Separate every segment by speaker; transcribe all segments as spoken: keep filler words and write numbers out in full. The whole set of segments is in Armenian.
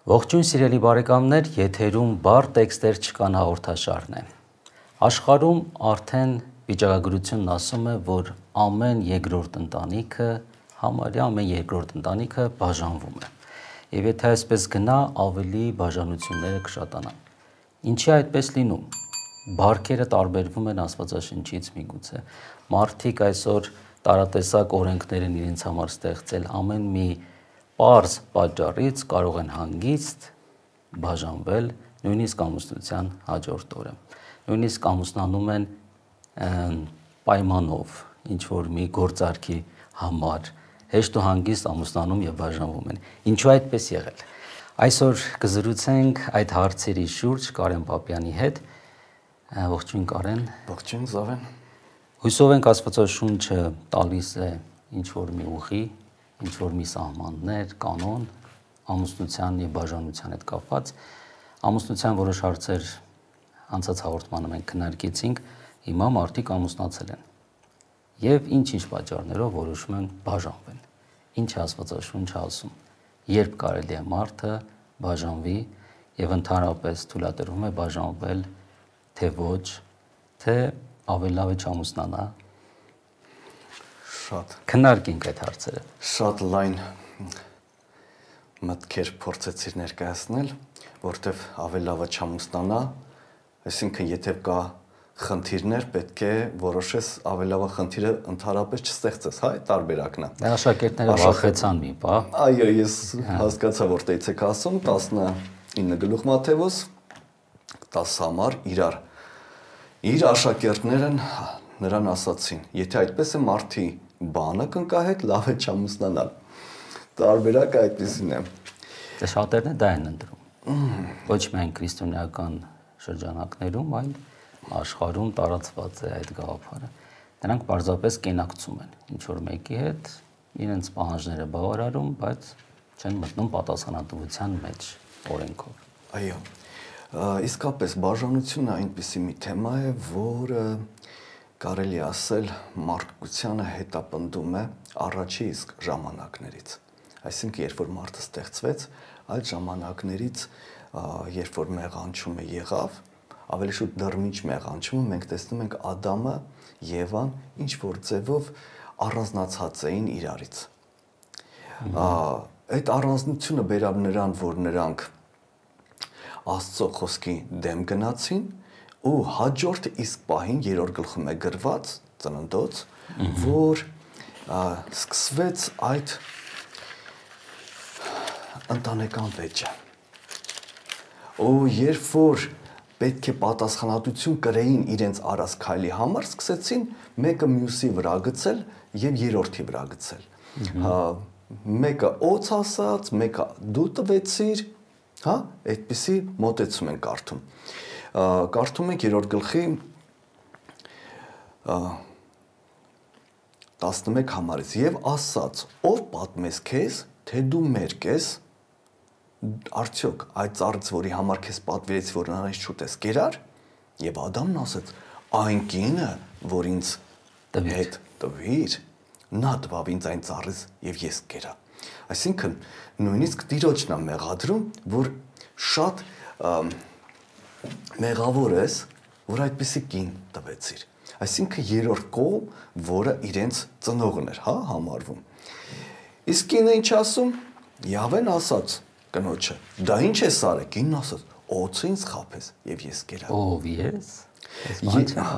Speaker 1: Ողջույն սիրելի բարեկամներ, եթերում բար տեքստեր չկան հաղորդաշարն է։ Աշխարհում արդեն վիճակագրությունն ասում է, որ ամեն երկրորդ ընտանիքը, համարյա ամեն երկրորդ ընտանիքը բաժանվում է։ Եվ եթե այսպես գնա, ավելի բաժանությունները կշատանան։ Ինչի այդպես լինում։ Բարքերը տարբերվում են Աստվածաշնչից միգուցե։ Մարդիկ այսօր տարատեսակ օրենքներ են իրենց համար ստեղծել, ամեն մի պարզ պատճառից կարող են հանգիստ բաժանվել նույնիսկ ամուսնության հաջորդ օրը։ Նույնիսկ ամուսնանում են պայմանով, ինչ որ մի գործարքի համար, հեշտ ու հանգիստ ամուսնանում եւ բաժանվում են։ Ինչու այդպես եղել։ Այսօր կզրուցենք այդ հարցերի շուրջ Կարեն Պապյանի հետ։ Ողջույն Կարեն։
Speaker 2: Ողջույն Զավեն։
Speaker 1: Հույսով ենք Աստվածաշունչը տալիս է ինչ որ մի ուղի, ինչ որ մի սահմաններ, կանոն ամուսնության եւ բաժանության հետ կապված։ Ամուսնության որոշ հարցեր անցած հաղորդմանը մենք քննարկեցինք, հիմա մարդիկ ամուսնացել են եւ ինչ-ինչ պատճառներով որոշում են բաժանվել։ Ինչ է Աստվածաշունչը ասում, երբ կարելի է մարդը բաժանվի եւ ընդհանրապես թույլատրվում է բաժանվել, թե ոչ, թե ավելի լավ է չամուսնանա։
Speaker 2: Շատ
Speaker 1: քննարկենք այդ հարցերը։
Speaker 2: Շատ լայն մտքեր փորձեցիր ներկայացնել, որտեվ ավելի լավ է չամուսնանա, այսինքն եթե կա խնդիրներ, պետք է որոշես ավելի լավ խնդիրը ընդհանրապես չստեղծես, հա, այդ տարբերակն է։
Speaker 1: Դա աշակերտները վախեցան մի բա։
Speaker 2: Այո, ես հասկացա, որտեղից եք ասում, տասնինը գլուխ Մատթեոս, տասը համար իրար իր աշակերտները նրան ասացին, եթե այդպես է մարդի բանը կնկահեք, լավ է չամուսնանալ։ Տարբերակը այդպեսին է։
Speaker 1: Դե շատերն դա են ընտրում։ Ոչ միայն քրիստոնեական շրջանակներում, այլ աշխարհում տարածված է այդ գաղափարը։ Նրանք պարզապես կենակցում են ինչ որ մեկի հետ, իրենց պահանջները բավարարում, բայց չեն մտնում պատասխանատվության մեջ օրենքով։
Speaker 2: Այո։ Իսկապես բաժանությունը այնպիսի մի թեմա է, որը կարելի ասել մարդկությանը հետապնդում է առաջի իսկ ժամանակներից։ Այսինքն, երբ որ մարդը ստեղծվեց, այդ ժամանակներից, երբ որ մեղանչումը եղավ, ավելի շուտ դռնիչ մեղանչումը, մենք տեսնում ենք Ադամը, Եվան, ինչ որ ձևով առանձնացած էին իրարից։ Այդ առանձնությունը բերավ նրան, որ նրանք Աստծո խոսքի դեմ գնացին ու հաջորդ իսկ պահին երրորդ գլխում է գրված ծննդոց, որ սկսվեց այդ ընտանեկան վեճը։ Ու երբ որ պետք է պատասխանատվություն կրեին իրենց արած քայլի համար, սկսեցին մեկը մյուսի վրա գցել եւ երրորդի վրա գցել։ Մեկը օծ ասած, մեկը դու տվեցիր, հա, այդպիսի մոտեցում են կարդում։ Կարդում ենք երրորդ գլխի տասնմեկ համարից եւ ասաց. ով պատմես քեզ, թե դու մերկ ես, արդյոք այդ ծառից, որի համար քեզ պատվիրեց, որ նրանից շուտես կերար, եւ Ադամն ասաց. այն կինը, որ ինձ հետ տվիր, նա տվավ ինձ այն ծառից եւ ես կերա։ Այսինքն նույնիսկ Տիրոջն է մեղադրում, որ շատ մեղավոր ես, որ այդպիսի կին տվեցիր։ Այսինքն երրորդ կողմ, որը իրենց ծնողն էր, հա, համարվում։ Իսկ կինը ինչ ասում։ Յավեն ասաց կնոջը. դա ինչ է սարը, կինն ասաց. օձը ինձ խաբես եւ ես կերա։
Speaker 1: Ով ես։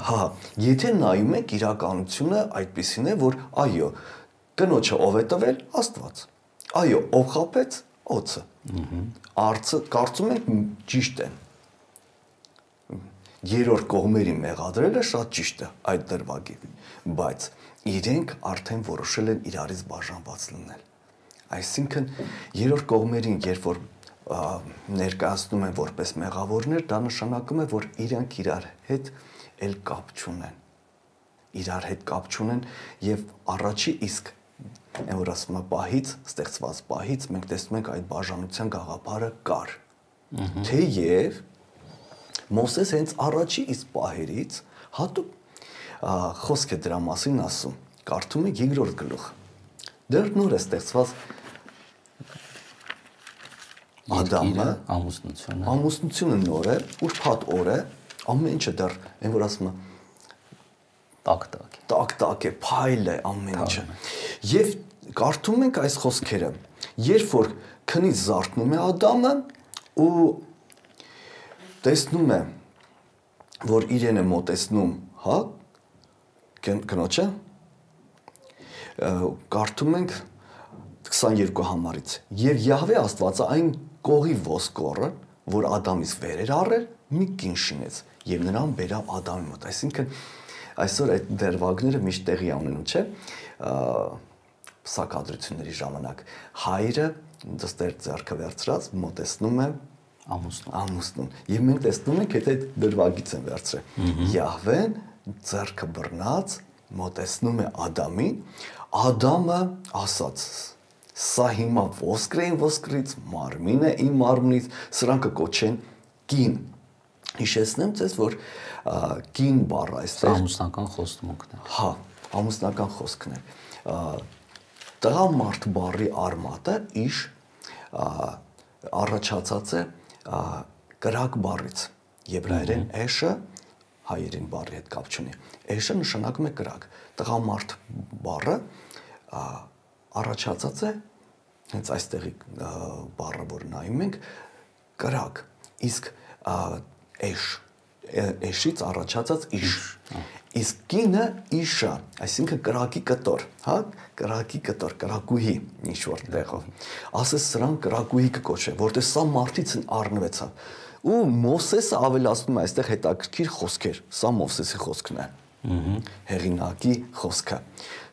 Speaker 2: Հա, եթե նայում եք իրականությունը այդպեսին է, որ այո, կնոջը ով է տվել, Աստված։ Այո, ով խաբեց, օձը։ Արծը կարծում ենք ճիշտ են։ Երրորդ կողմերի մեղադրելը շատ ճիշտ է այդ դրվագի, բայց իրենք արդեն որոշել են իրարից բաժանված լինել։ Այսինքն երրորդ կողմերին, երբ որ ներկայացնում են որպես մեղավորներ, դա նշանակում է, որ իրենք իրար հետ էլ կապ չունեն։ Իրար հետ կապ չունեն եւ առաջի իսկ այն որ ասում է պահից, ստեղծված պահից մենք տեսնում ենք այդ բաժանության գաղափարը կար։ Թեև Մովսես հենց առաջի իսկ պահերից հատուկ խոսք է դրա մասին ասում, կարդում եք երկրորդ գլուխ։ Դեռ նոր է ստեղծված Ադամը,
Speaker 1: ամուսնությունը,
Speaker 2: ամուսնությունը նոր է, ուրբաթ օր է, ամեն ինչը դեռ այն որ ասում է
Speaker 1: տակ-տակ է,
Speaker 2: տակ-տակ է, փայլ է ամեն ինչը։ Եվ կարդում ենք այս խոսքերը, երբ որ քնից զարթնում է Ադամը ու տեսնում է, որ իրեն է մոտեցնում, հա, կնոջը, կարդում ենք քսաներկու համարից, եւ Յահվե Աստվածը այն կողի ոսկորը, որ Ադամից վեր էր առել, մի կին շինեց եւ նրան բերավ Ադամի մոտ։ Այսինքն այսօր այդ դերվագները միշտ տեղի ունենում, չէ՞, սակադրությունների ժամանակ հայրը դստեր ձեռքը վերցրած մոտեցնում է
Speaker 1: ամուսնուն,
Speaker 2: ամուսնուն եւ մենք տեսնում ենք եթե այդ դերվագից են վերցրել Յահվեն ձեռքը բռնած մոտեցնում է Ադամին, Ադամը ասաց. Սա հիմա ոսկր է ոսկրից, մարմին է իմ մարմնից, սրանք կոչեն կին։ Հիշեցնեմ ձեզ, որ կին բառը այստեղ
Speaker 1: ամուսնական խոստումն է։
Speaker 2: Հա, ամուսնական խոսքն է։ Տղամարդ բառի արմատը իշ առաջացած է կրակ բառից։ Եբրայերեն էշը հայերեն բառի հետ կապ չունի։ Էշը նշանակում է կրակ։ Տղամարդ բառը առաջացած է հենց այստեղի բառը որ նայում ենք կրակ իսկ էշ էշից առաջացած իշ իսկ կինը իշա այսինքն կրակի կտոր հա կրակի կտոր կրակուհի ինչ որ տեղով ասես սրան կրակուհի կկոչվի որտեղ սա մարդից առնվեցավ ու Մովսեսը ավելացնում է այստեղ հետաքրքիր խոսքեր սա Մովսեսի խոսքն է հեղինակի խոսքը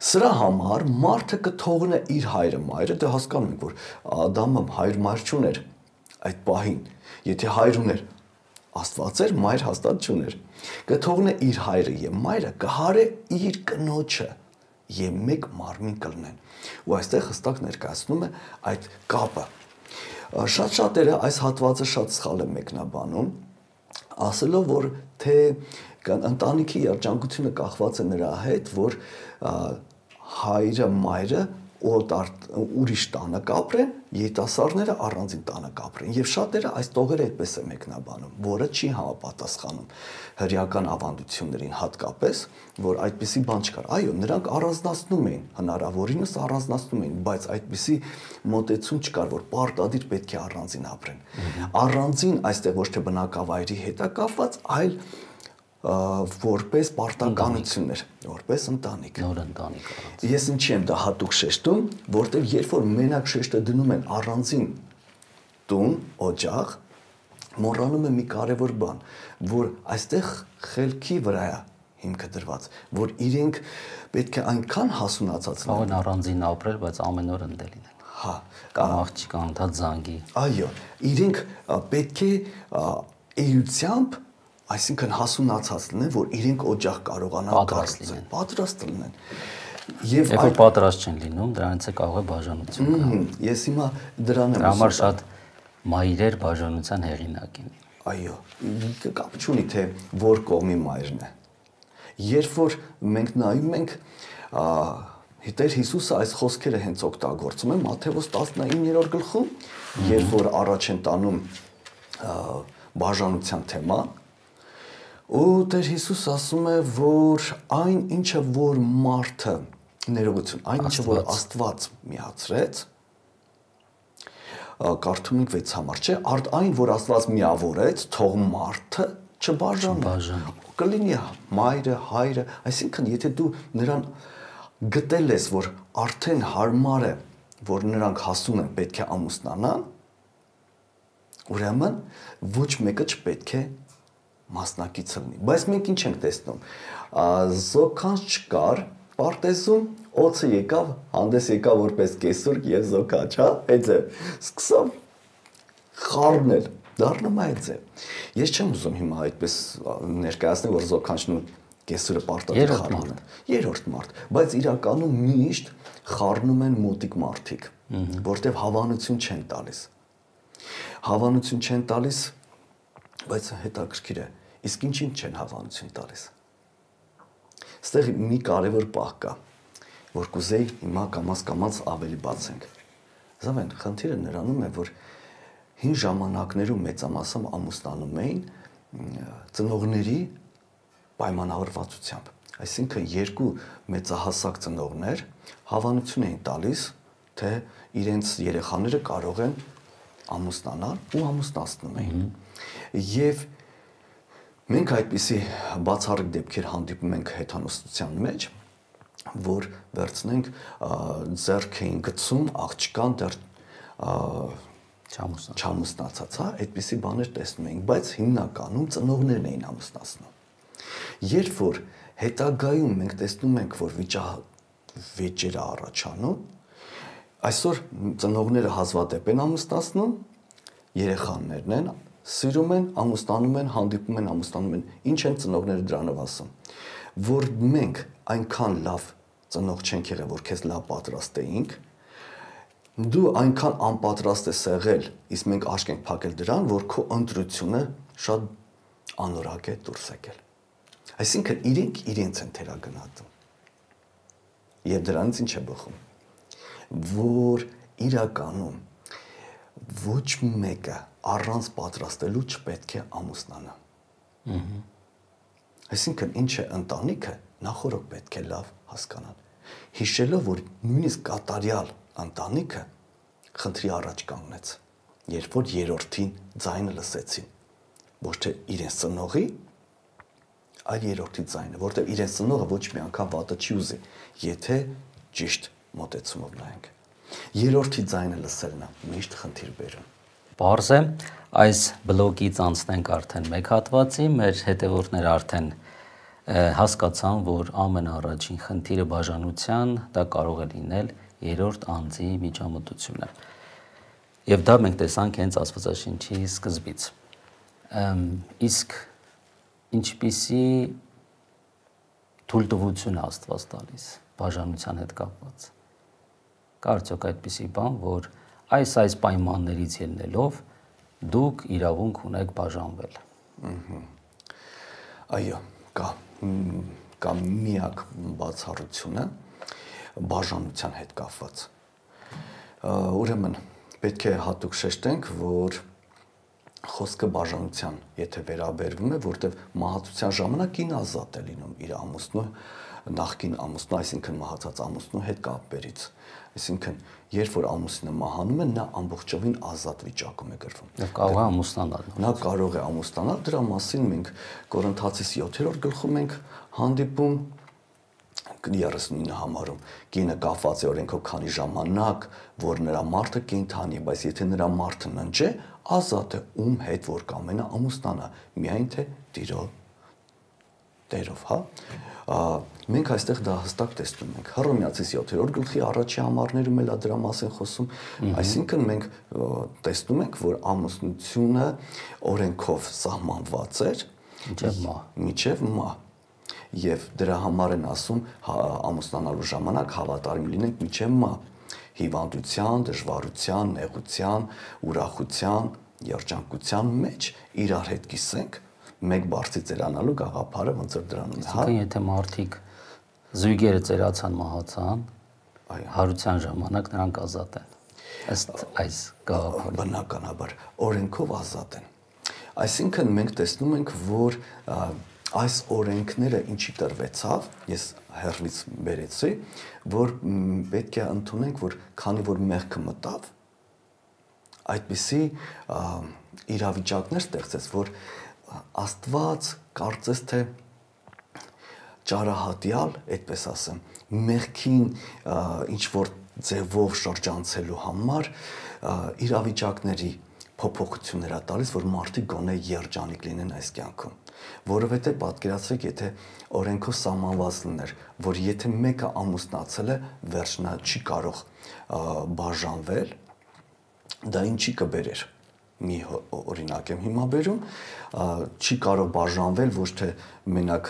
Speaker 2: Սրա համար մարդը կթողնե իր հայրը մայրը, դե հասկանում ենք, որ Ադամը հայր մայր չուներ այդ պահին, եթե հայր ուներ, Աստված էր, մայր հաստատ չուներ, կթողնե իր հայրը եւ մայրը, կհարե իր կնոջը եւ մեկ մարմին կլինեն։ Ու այստեղ հստակ ներկայացնում է այդ կապը։ Շատ շատերը այս հատվածը շատ սխալ են մեկնաբանում, ասելով, որ թե ընտանիքի երջանկությունը կախված է նրա հետ, որ հայրը, մայրը ուրիշ տանը կապրեն, երիտասարդները առանձին տանը կապրեն։ Եվ շատերը այս տողերը այդպես է մեկնաբանում, որը չի համապատասխանում հրեական ավանդություններին հատկապես, որ այդպիսի բան չկար։ Այո, նրանք առանձնացնում էին, հնարավորինս առանձնացնում էին, բայց այդպիսի մոտեցում չկար, որ պարտադիր պետք է առանձին ապրեն։ Առանձին այստեղ ոչ թե բնակավայրի հետ է կապված, այլ որպես պարտականություն էր, որպես ընտանիք։
Speaker 1: Նոր ընտանիք առանց։
Speaker 2: Ես ինչի եմ դա հատուկ շեշտում, որտեղ երբ որ մենակ շեշտը դնում են առանձին տուն, օջախ, մոռանում է մի կարևոր բան, որ այստեղ խելքի վրա է հիմքը դրված, որ իրենք պետք է այնքան հասունացած
Speaker 1: լինեն։ Կարող են առանձին ապրել, բայց ամեն օր ընդել լինեն։
Speaker 2: Հա,
Speaker 1: կամ աղջիկ անդադ զանգի։
Speaker 2: Այո, իրենք պետք է էությամբ այսինքն հասունացած լինեն, որ իրենք օջախ կարողանան կառուցել, պատրաստ լինեն։ Եվ
Speaker 1: երբ որ պատրաստ չեն լինում, դրանից է կարող է բաժանություն գալ։
Speaker 2: Ես հիմա դրան եմ
Speaker 1: համար շատ մայրեր բաժանության հեղինակ են։
Speaker 2: Այո, կապ չունի թե որ կողմի մայրն է։ Երբ որ մենք նայում ենք, Տեր Հիսուսը այս խոսքերը հենց օգտագործում է Մատթեոս տասնիններորդ գլխում, երբ որ առաջ են տանում բաժանության թեման, ու Տեր Հիսուս ասում է, որ այն ինչը որ մարդը ներողություն, այն ինչը որ Աստված միացրեց, կարդում ենք վեց համար, չէ, արդ այն որ Աստված միավորեց, թող մարդը չբաժանի։ Կլինի մայրը, հայրը, այսինքն եթե դու նրան գտել ես, որ արդեն հարմար է, որ նրանք հասուն են, պետք է ամուսնանան, ուրեմն ոչ մեկը չպետք է մասնակիցը լինի։ Բայց մենք ինչ ենք տեսնում, զոքանց չկար, պարտեզում օծը եկավ, հանդես եկավ որպես կեսուրկ և զոքաչ, հա, այդ է, սկսավ խառնել, դառնում է այդ է։ Ես չեմ ուզում հիմա այդպես ներկայացնել, որ զոքանչն ու կեսուրը պարտադիր խառնում են։ Երրորդ մարդ, բայց իրականում միշտ խառնում են մոտիկ մարդիկ, որտեղ հավանություն չեն տալիս։ Հավանություն չեն տալիս, բայց հետաքրքիր է, իսկ ինչին չեն հավանություն տալիս։ Ստեղ մի կարևոր պահ կա, որ կուզեի հիմա կամաց-կամաց ավելի բացենք։ Զավեն, խնդիրը նրանում է, որ հին ժամանակներում մեծամասամբ ամուսնանում էին ծնողների պայմանավորվածությամբ։ Այսինքն երկու մեծահասակ ծնողներ հավանություն էին տալիս, թե իրենց երեխաները կարող են ամուսնանալ ու ամուսնացնում էին։ Եվ մենք այդպիսի բացառիկ դեպքեր հանդիպում ենք հեթանոստության մեջ, որ վերցնենք ձեռք էին գցում աղջկան դեռ չամուսնացած, հա, այդպիսի բաներ տեսնում ենք, բայց հիմնականում ծնողներն էին ամուսնացնում։ Երբ որ հետագայում մենք տեսնում ենք, որ վիճահավեճերը առաջանում, այսօր ծնողները հազվադեպ են ամուսնացնում, երեխաներն են սիրում են, ամուսնանում են, հանդիպում են, ամուսնանում են, ինչ են ծնողները դրանով ասում, որ մենք այնքան լավ ծնող չենք եղել, որ քեզ լավ պատրաստեինք, դու այնքան անպատրաստ ես եղել, իսկ մենք աշկ ենք փակել դրան, որ քո ընտրությունը շատ անորակ է դուրս եկել։ Այսինքն իրենք իրենց են թերագնահատում։ Եվ դրանից ինչ է բխում, որ իրականում ոչ մեկը առանց պատրաստելու չպետք է ամուսնանա։ Այսինքն ինչ է ընտանիքը, նախորդ պետք է լավ հասկանալ։ Հիշելով, որ նույնիսկ կատարյալ ընտանիքը խնդրի առաջ կանգնեց, երբ որ երրորդին ձայնը լսեցին, ոչ թե իրենց ծնողի, այլ երրորդի ձայնը, որտեղ իրենց ծնողը ոչ մի անգամ վատը չի ուզի, եթե ճիշտ մոտեցումով նայենք։ Երրորդի ձայնը լսելն է միշտ խնդիր բերում։
Speaker 1: Պարզ է, այս բլոգից անցնենք արդեն մեկ հատվածի, մեր հետևորդները արդեն հասկացան, որ ամենաառաջին խնդիրը բաժանության, դա կարող է լինել երրորդ անձի միջամտությունը։ Եվ դա մենք տեսանք հենց Աստվածաշնչի սկզբից։ Իսկ ինչպիսի թույլտվություն է Աստված տալիս բաժանության հետ կապված։ Կա արդյոք այդպիսի բան, որ այս այս պայմաններից ելնելով դուք իրավունք ունեք բաժանվել։
Speaker 2: Այո, կա կա միակ բացառությունը բաժանության հետ կապված։ Ուրեմն պետք է հատուկ շեշտենք, որ խոսքը բաժանության, եթե վերաբերվում է, որտեղ մահացության ժամանակ կինը ազատ է լինում իր ամուսնու, նախկին ամուսնու, այսինքն մահացած ամուսնու հետ կապերից։ Այսինքն, երբ որ ամուսինը մահանում է, նա ամբողջովին ազատ վիճակում է գրվում։
Speaker 1: Եվ կարող է ամուսնանալ։
Speaker 2: Նա կարող է ամուսնանալ, դրա մասին մենք Կորինթացիս յոթերորդ գլխում ենք հանդիպում երեսունինը համարում կինը կապված է օրենքով քանի ժամանակ, որ նրա մարդը կենդանի, բայց եթե նրա մարդը ննջ է, ազատ է ում հետ որ կամենա ամուսնանա, միայն թե տիրո տերով, հա։ Մենք այստեղ դա հստակ տեսնում ենք։ Հռոմեացիս յոթերորդ գլխի առաջի համարներում էլ դրա մասին խոսում, այսինքն մենք տեսնում ենք, որ ամուսնությունը օրենքով սահմանված էր
Speaker 1: մինչև մահ,
Speaker 2: մինչև մահ։ Եվ դրա համար են ասում ամուսնանալու ժամանակ հավատարիմ լինենք մինչև մահ, հիվանդության, դժվարության, նեղության, ուրախության, երջանկության մեջ իրար հետ կիսենք մեկ բարձի ծերանալու գաղափարը ոնց որ դրանում է, հա։
Speaker 1: Եթե մարդիկ զույգերը ծերացան մահացան, հարության ժամանակ նրանք ազատ են։ Ըստ այս գաղափարի։
Speaker 2: Բնականաբար օրենքով ազատ են։ Այսինքն մենք տեսնում ենք, որ այս օրենքները ինչի տրվեցավ, ես հերվից բերեցի, որ պետք է ընդունենք, որ քանի որ մեղքը մտավ, այդպիսի իրավիճակներ ստեղծեց, որ Աստված կարծես թե ճարահատյալ, այդպես ասեմ, մեղքին ինչ որ ձևով շրջանցելու համար իրավիճակների փոփոխություններ ա տալիս, որ մարդիկ գոնե երջանիկ լինեն այս կյանքում, որովհետև պատկերացրեք, եթե օրենքով սահմանված լիներ, որ եթե մեկը ամուսնացել է, վերջնա չի կարող բաժանվել, դա ինչի կբերեր։ Մի օրինակ եմ հիմա բերում, չի կարող բաժանվել ոչ թե մենակ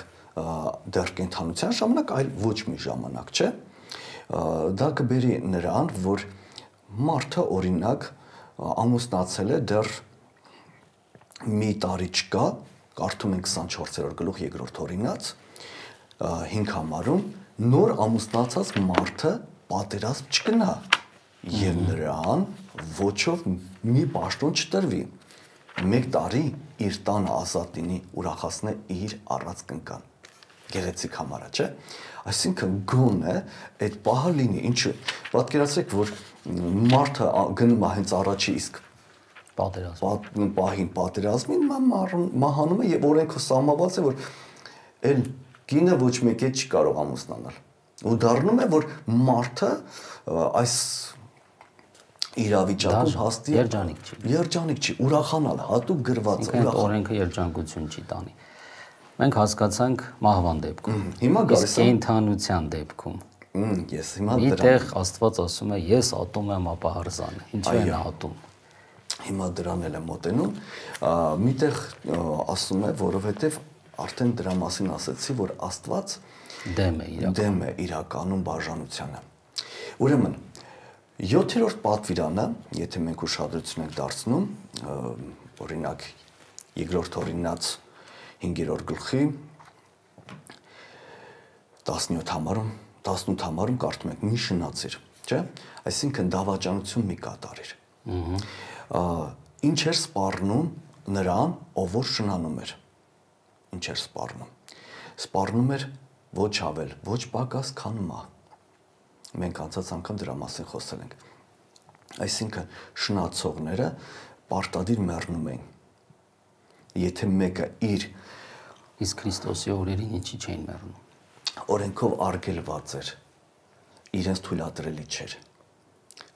Speaker 2: դեռ կենդանության ժամանակ, այլ ոչ մի ժամանակ, չէ։ Դա կբերի նրան, որ մարդը օրինակ ամուսնացել է դեռ մի տարի չկա, կարդում ենք քսանչորսերորդ գլուխ երկրորդ օրինաց հինգ համարում, նոր ամուսնացած մարդը պատերազմ չգնա, եւ նրան ոչով մի պաշտոն չտրվի։ Մեկ տարի իր տանը ազատ լինի, ուրախացնե իր առած կնկան։ Գեղեցիկ համարա, չէ՞։ Այսինքն գոնե այդ պահը լինի, ինչու։ Պատկերացրեք, որ մարդը գնում է հենց առաջի իսկ
Speaker 1: պատերազմ
Speaker 2: պահին պատերազմին մահանում է եւ օրենքը սահմանված է, որ այլ կինը ոչ մեկ չի կարող ամուսնանալ։ Ու դառնում է, որ մարդը այս իրավիճակում հաստի
Speaker 1: երջանիկ չի։
Speaker 2: Երջանիկ չի, ուրախանալ, հատուկ գրված
Speaker 1: է, օրենքը երջանկություն չի տանի։ Մենք հասկացանք մահվան դեպքում։
Speaker 2: Հիմա գալիս
Speaker 1: է կենդանության դեպքում։
Speaker 2: Ես հիմա
Speaker 1: դրան։ Միտեղ Աստված ասում է, ես ատում եմ ապահարզանը։ Ինչու են ատում։
Speaker 2: Հիմա դրան էլ եմ մոտենում, միտեղ ասում է, որովհետև արդեն դրա մասին ասացի, որ Աստված
Speaker 1: դեմ է իրականում
Speaker 2: դեմ է իրականում բաժանությանը։ Ուրեմն յոթերորդ պատվիրանը, եթե մենք ուշադրություն ենք դարձնում, օրինակ երկրորդ օրինաց հինգերորդ գլխի տասնյոթ համարում, տասնութ համարում կարդում ենք մի շնացիր, չէ՞։ Այսինքն դավաճանություն մի կատարիր։ Ինչ էր սպառնում նրան, ով որ շնանում էր։ Ինչ էր սպառնում։ Սպառնում էր ոչ ավել, ոչ պակաս, քան մահ։ Մենք անցած անգամ դրա մասին խոսել ենք։ Այսինքն շնացողները պարտադիր մեռնում են։ Եթե մեկը իր
Speaker 1: իսկ Քրիստոսի օրերին ինչի չէին մեռնում։
Speaker 2: Օրենքով արգելված էր, իրենց թույլատրելի չէր։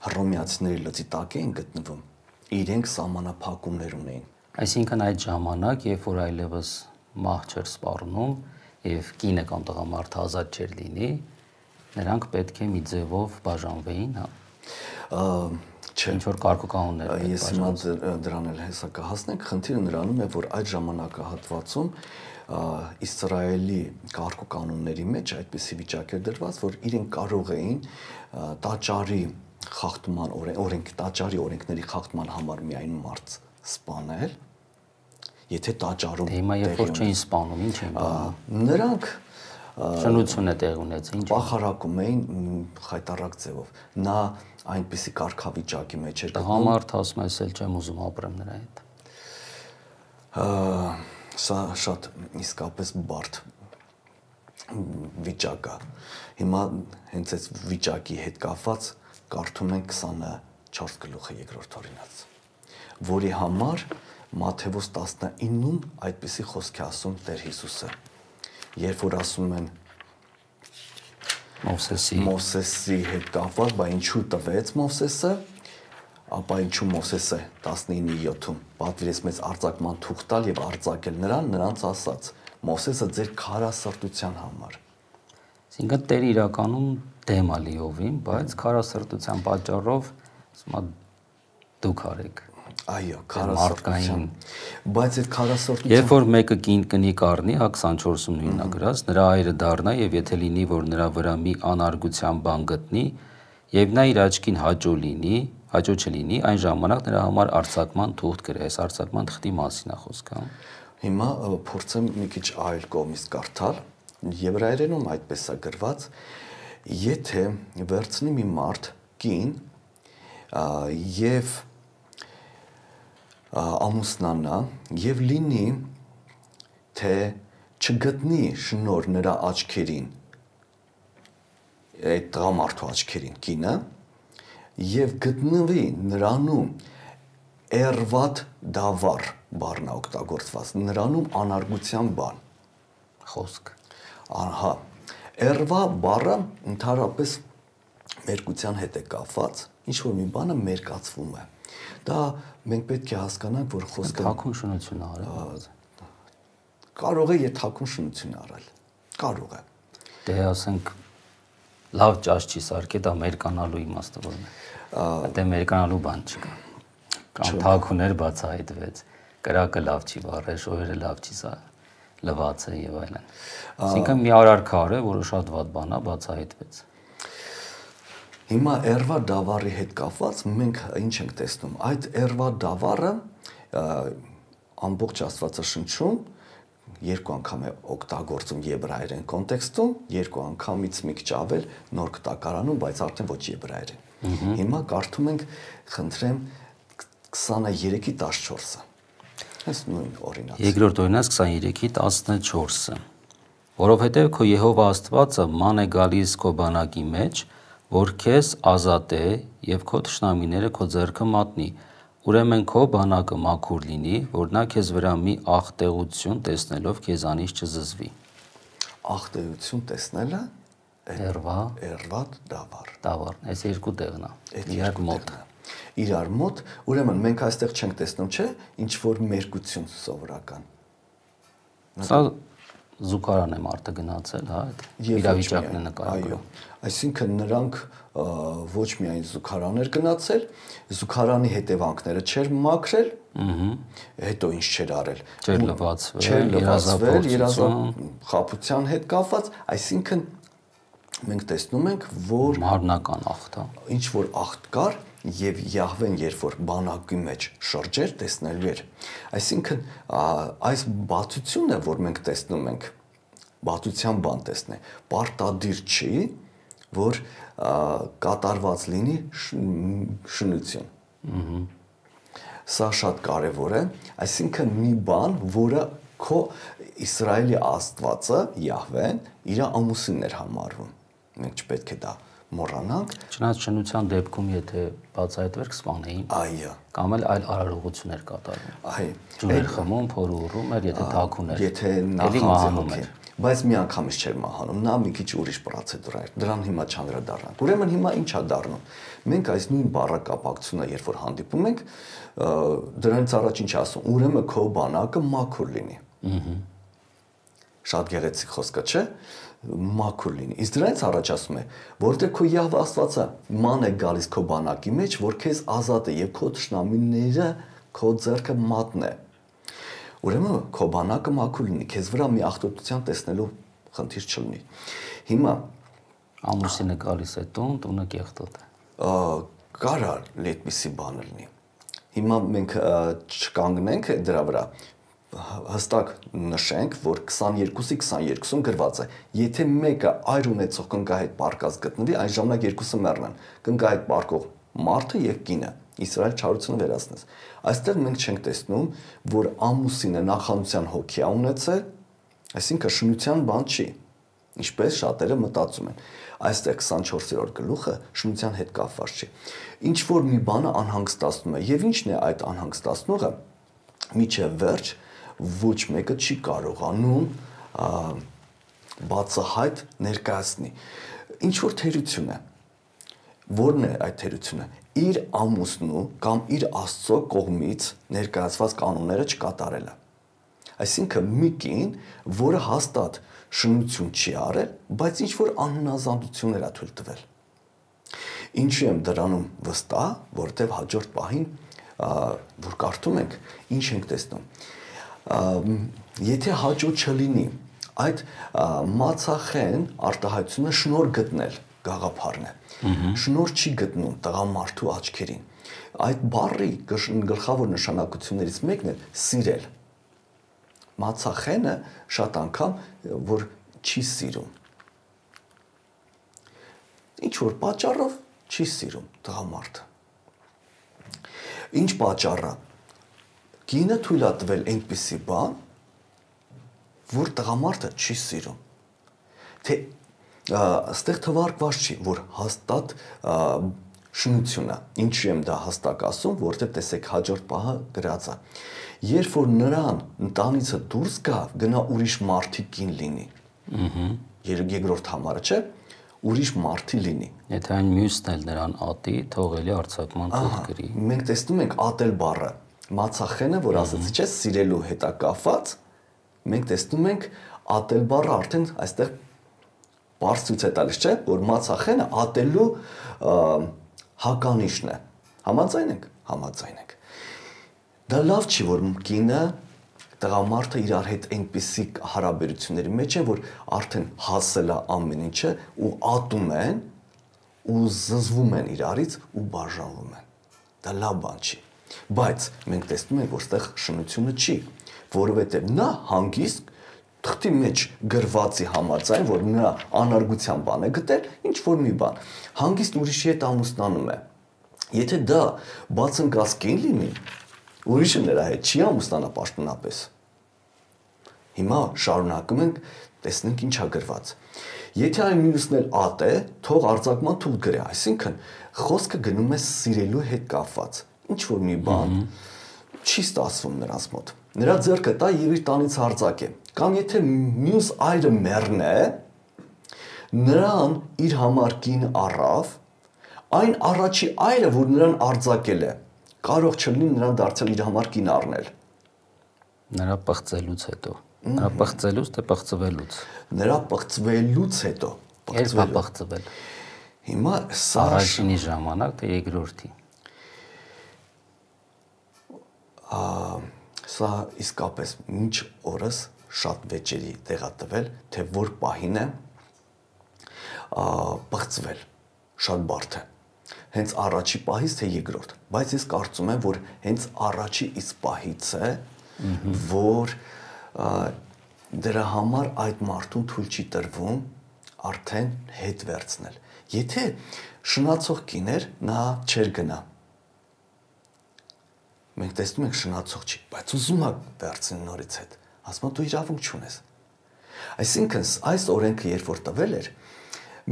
Speaker 2: Հռոմեացիների լծի տակ էին գտնվում, իրենք սահմանափակումներ ունեին։
Speaker 1: Այսինքն այդ ժամանակ, երբ որ այլևս մահ չէր սպառնում եւ կինը կամ տղամարդը ազատ չէր լինի, նրանք պետք է մի ձևով բաժանվեին, հա։
Speaker 2: Չէ,
Speaker 1: ինչ որ կարգուկանոններ։
Speaker 2: Ես հիմա դրան էլ հեսա կհասնենք, խնդիրը նրանում է, որ այդ ժամանակահատվածում Իսրայելի կարգուկանոնների մեջ այդպիսի վիճակ էր դրված, որ իրենք կարող էին տաճարի խախտման օրենք, տաճարի օրենքների խախտման համար միայն մարդ սպանել, եթե տաճարում
Speaker 1: հիմա երբ որ չէին սպանում, ինչ էին անում։
Speaker 2: Նրանք
Speaker 1: շնություն է տեղ ունեցել, ինչ
Speaker 2: պախարակում էին խայտարակ ձևով։ Նա այնպիսի կարգավիճակի մեջ էր գտնում։
Speaker 1: Տղամարդը ասում է, ես էլ չեմ ուզում ապրեմ նրա հետ։
Speaker 2: Սա շատ իսկապես բարդ վիճակ է։ Հիմա հենց այս վիճակի հետ կապված կարդում ենք քսանչորս գլուխը երկրորդ օրինաց, որի համար Մատթեոս տասնինում այդպիսի խոսք է ասում Տեր Հիսուսը, երբ որ ասում են
Speaker 1: Մովսեսի
Speaker 2: Մովսեսի հետ կապված, բա ինչու տվեց Մովսեսը, ապա ինչու Մովսեսը տասնինի յոթում պատվիրեց մեզ արձակման թուղթ տալ եւ արձակել նրան, նրանց ասաց. Մովսեսը ձեր քարասրտության համար։
Speaker 1: Այսինքն Տերը իրականում դեմ է լիովին, բայց քարասրտության պատճառով ասում է դուք արեք։
Speaker 2: Այո, քարասրտության։ Բայց այդ քարասրտության
Speaker 1: երբ որ մեկը կին կնի կառնի, հա քսանչորսում նույնն է գրած, նրա այրը դառնա եւ եթե լինի, որ նրա վրա մի անարգության բան գտնի, եւ նա իր աչքին հաճո լինի, հաճո չլինի, այն ժամանակ նրա համար արձակման թուղթ գրի, այս արձակման թղթի մասին է խոսքը։
Speaker 2: Հիմա փորձեմ մի քիչ այլ կողմից կարդալ, եբրայերենում այդպես է գրված, եթե վերցնի մի մարդ կին եւ ամուսնանա եւ լինի թե չգտնի շնոր նրա աչքերին, այդ տղամարդու աչքերին կինը, եւ գտնվի նրանում էրվատ դավար բառն օգտագործված, նրանում անարգության բան
Speaker 1: խոսք։
Speaker 2: Ահա, էրվա բառը ընդհանրապես մերկության հետ է կապված, ինչ որ մի բանը մերկացվում է։ Դա մենք պետք է հասկանանք, որ խոսքը
Speaker 1: թաքուն շնություն է արել։
Speaker 2: Կարող է եւ թաքուն շնություն արել։ Կարող է։
Speaker 1: Դե ասենք լավ ճաշ չի սարքե, դա մերկանալու իմաստը որն է։ Դե մերկանալու բան չկա։ Կամ թաքուներ բացահայտվեց, կրակը լավ չի վառել, շոյերը լավ չի սա լվացը եւ այլն։ Այսինքն մի արարքա արը, որը շատ վատ բան է, բացահայտվեց։
Speaker 2: Հիմա էրվա դավարի հետ կապված մենք ինչ ենք տեսնում։ Այդ էրվա դավարը ամբողջ Աստվածաշնչում երկու անգամ է օգտագործում եբրայերեն կոնտեքստում, երկու անգամից մի քիչ ավել նոր կտակարանում, բայց արդեն ոչ եբրայերեն։ Հիմա կարդում ենք, խնդրեմ, քսաներեքի տասնչորսը։ Այս նույն օրինաց։
Speaker 1: Երկրորդ օրինաց քսաներեքի տասնչորսը։ Որովհետև քո Եհովա Աստվածը ման է գալիս քո բանակի մեջ, որ քեզ ազատե եւ քո թշնամիները քո ձեռքը մատնի, ուրեմն քո բանակը մաքուր լինի, որ նա քեզ վրա մի աղտեղություն տեսնելով քեզանից չզզվի։
Speaker 2: Աղտեղություն տեսնելը
Speaker 1: Էրվա,
Speaker 2: Էրվատ դավար։
Speaker 1: Դավար, այս երկու տեղն է։ Իրար մոտ։
Speaker 2: Իրար մոտ, ուրեմն մենք այստեղ չենք տեսնում, չէ՞, ինչ որ մերկություն սովորական։
Speaker 1: Սա զուգարան է մարդը գնացել, հա, այդ իրավիճակն է նկարագրում։
Speaker 2: Այսինքն նրանք ոչ միայն զուգարաններ գնացել, զուգարանի հետևանքները չէր մաքրել, հետո ինչ չէր արել։
Speaker 1: Չէր լվացվել,
Speaker 2: չէր լվացվել, երազախապության հետ կապված, այսինքն մենք տեսնում ենք, որ
Speaker 1: մարմնական աղտ,
Speaker 2: ինչ որ աղտ կար եւ Յահվեն երբ որ բանակի մեջ շրջեր տեսնելու էր։ Այսինքն այս բացությունն է, որ մենք տեսնում ենք, բացության բան տեսնե, պարտադիր չի, որ կատարված լինի շնություն։ Սա շատ կարևոր է, այսինքն մի բան, որը քո Իսրայելի Աստվածը Յահվեն իր ամուսինն էր համարվում։ Մենք չպետք է դա մոռանանք։
Speaker 1: Չնայած շնության դեպքում եթե բացահայտվեր կսպանեին,
Speaker 2: այո,
Speaker 1: կամ էլ այլ արարողություններ կատարվում։
Speaker 2: Այո,
Speaker 1: ջուր խմում, փորը ուռում էր, եթե թաքուն էր,
Speaker 2: եթե
Speaker 1: նախանձում էր,
Speaker 2: բայց մի անգամից չէր մահանում, նա մի քիչ ուրիշ պրոցեդուրա էր։ Դրան հիմա չանդրադառնանք։ Ուրեմն հիմա ի՞նչ է դառնում։ Մենք այս նույն բառակապակցությունը երբ որ հանդիպում ենք, դրանից առաջ ինչ ասում, ուրեմն քո բանակը մաքուր լինի։ Շատ գեղեցիկ խոսք է, չէ՞։ Մաքուր լինի։ Իսկ դրանից առաջ ասում է, որտեղ քո Յահվե Աստվածը ման է գալիս քո բանակի մեջ, որ քեզ ազատ է եւ քո թշնամիները քո ձեռքը մատնե։ Ուրեմն քո բանակը մաքուր լինի, քեզ վրա մի աղտոտության տեսնելու խնդիր չլինի։ Հիմա
Speaker 1: ամուսինը գալիս է տուն, տունը կեղտոտ է։
Speaker 2: Կարա այդպիսի բան լինի։ Հիմա մենք չկանգնենք դրա վրա, հստակ նշենք, որ քսաներկուսի քսաներկուսում գրված է, եթե մեկը այր ունեցող կնկահ հետ պարկած գտնվի, այն ժամանակ երկուսը մեռնեն, կնկահ հետ պարկող մարդը եւ կինը, Իսրայել չարությունը վերացնես։ Այստեղ մենք չենք տեսնում, որ ամուսինը նախանձության հոգի է ունեցել, այսինքն շնության բան չի, ինչպես շատերը մտածում են։ Այստեղ քսանչորսերորդ գլուխը շնության հետ կապված չի։ Ինչ որ մի բանը անհանգստացնում է, եւ ինչն է այդ անհանգստացնողը, միջև վերջ ոչ մեկը չի կարողանում բացահայտ ներկայացնի։ Ինչ որ թերություն է։ Որն է այդ թերությունը։ Իր ամուսնու կամ իր Աստծո կողմից ներկայացված կանոնները չկատարելը։ Այսինքն մի կին, որը հաստատ շնություն չի արել, բայց ինչ որ անհնազանդություններ է թույլ տվել։ Ինչու եմ դրանում վստահ, որտեղ հաջորդ պահին որ կարդում ենք, ինչ ենք տեսնում։ Եթե հաջող չլինի այդ մացախեն արտահայտությունը շնոր գտնել գաղափարն է։ Շնոր չի գտնում տղամարդու աչքերին։ Այդ բառի գլխավոր նշանակություններից մեկն է սիրել։ Մացախենը շատ անգամ որ չի սիրում։ Ինչ որ պատճառով չի սիրում տղամարդը։ Ինչ պատճառը։ Կինը թույլ է տվել այնպիսի բան, որ տղամարդը չի սիրում։ Թե այստեղ թվարկված չի, որ հաստատ շնություն է։ Ինչու եմ դա հստակ ասում, որտեղ տեսեք հաջորդ պահը գրած է։ Երբ որ նրան ընտանիցը դուրս գա, գնա ուրիշ մարդի կին լինի։ Ահա։ Երկրորդ համարը, չէ՞, ուրիշ մարդի լինի։
Speaker 1: Եթե այն մյուսն էլ նրան ատի, թողելի արձակման թող գրի։
Speaker 2: Մենք տեսնում ենք ատել բառը, մացախենը, որ ասացի, չէ՞, սիրելու հետ է կապված, մենք տեսնում ենք ատել բառը արդեն այստեղ բարձ ցույց է տալիս, չէ՞, որ մացախենը ատելու հականիշն է։ Համաձայն ենք, համաձայն ենք։ Դա լավ չի, որ կինը տղամարդը իրար հետ այնպիսի հարաբերությունների մեջ են, որ արդեն հասել է ամեն ինչը ու ատում են ու զզվում են իրարից ու բաժանվում են։ Դա լավ բան չի։ Բայց մենք տեսնում ենք, որ այստեղ շնությունը չի, որովհետև նա հանգիստ թղթի մեջ գրվածի համաձայն, որ նրա անարգության բան է գտել, ինչ որ մի բան, հանգիստ ուրիշի հետ ամուսնանում է։ Եթե դա բացընկած կին լինի, ուրիշը նրա հետ չի ամուսնանա պաշտոնապես։ Հիմա շարունակում ենք, տեսնենք ինչա գրված։ Եթե այն մյուսն էլ ատ է, թող արձակման թուղթ գրի, այսինքն խոսքը գնում է սիրելու հետ կապված։ Ինչ որ մի բան չի ստացվում նրանց մոտ։ Նրա ձեռքը տա եւ իր տանից արձակե։ Կամ եթե մյուս այրը մեռն է, նրան իր համար կին առավ, այն առաջի այրը, որ նրան արձակել է, կարող չլինի նրան դարձել իր համար կին առնել։
Speaker 1: Նրա պղծելուց հետո։ Նրա պղծելուց թե պղծվելուց։
Speaker 2: Նրա պղծվելուց հետո։
Speaker 1: Երբ պղծվել։
Speaker 2: Հիմա սա
Speaker 1: առաջինի ժամանակ թե երկրորդի։
Speaker 2: Սա իսկապես մինչ օրս շատ վեճերի տեղատվել, թե որ պահին է պղծվել, շատ բարդ է։ Հենց առաջի պահից թե երկրորդ, բայց ես կարծում եմ, որ հենց առաջի իսկ պահից է, որ դրա համար այդ մարդուն թույլ չի տրվում արդեն հետ վերցնել։ Եթե շնացող կիներ, նա չեր գնա։ Մենք տեսնում ենք շնացող չի, բայց ուզում է վերցնել նորից հետ։ Ասում է դու իրավունք չունես։ Այսինքն այս օրենքը երբ որ տվել էր,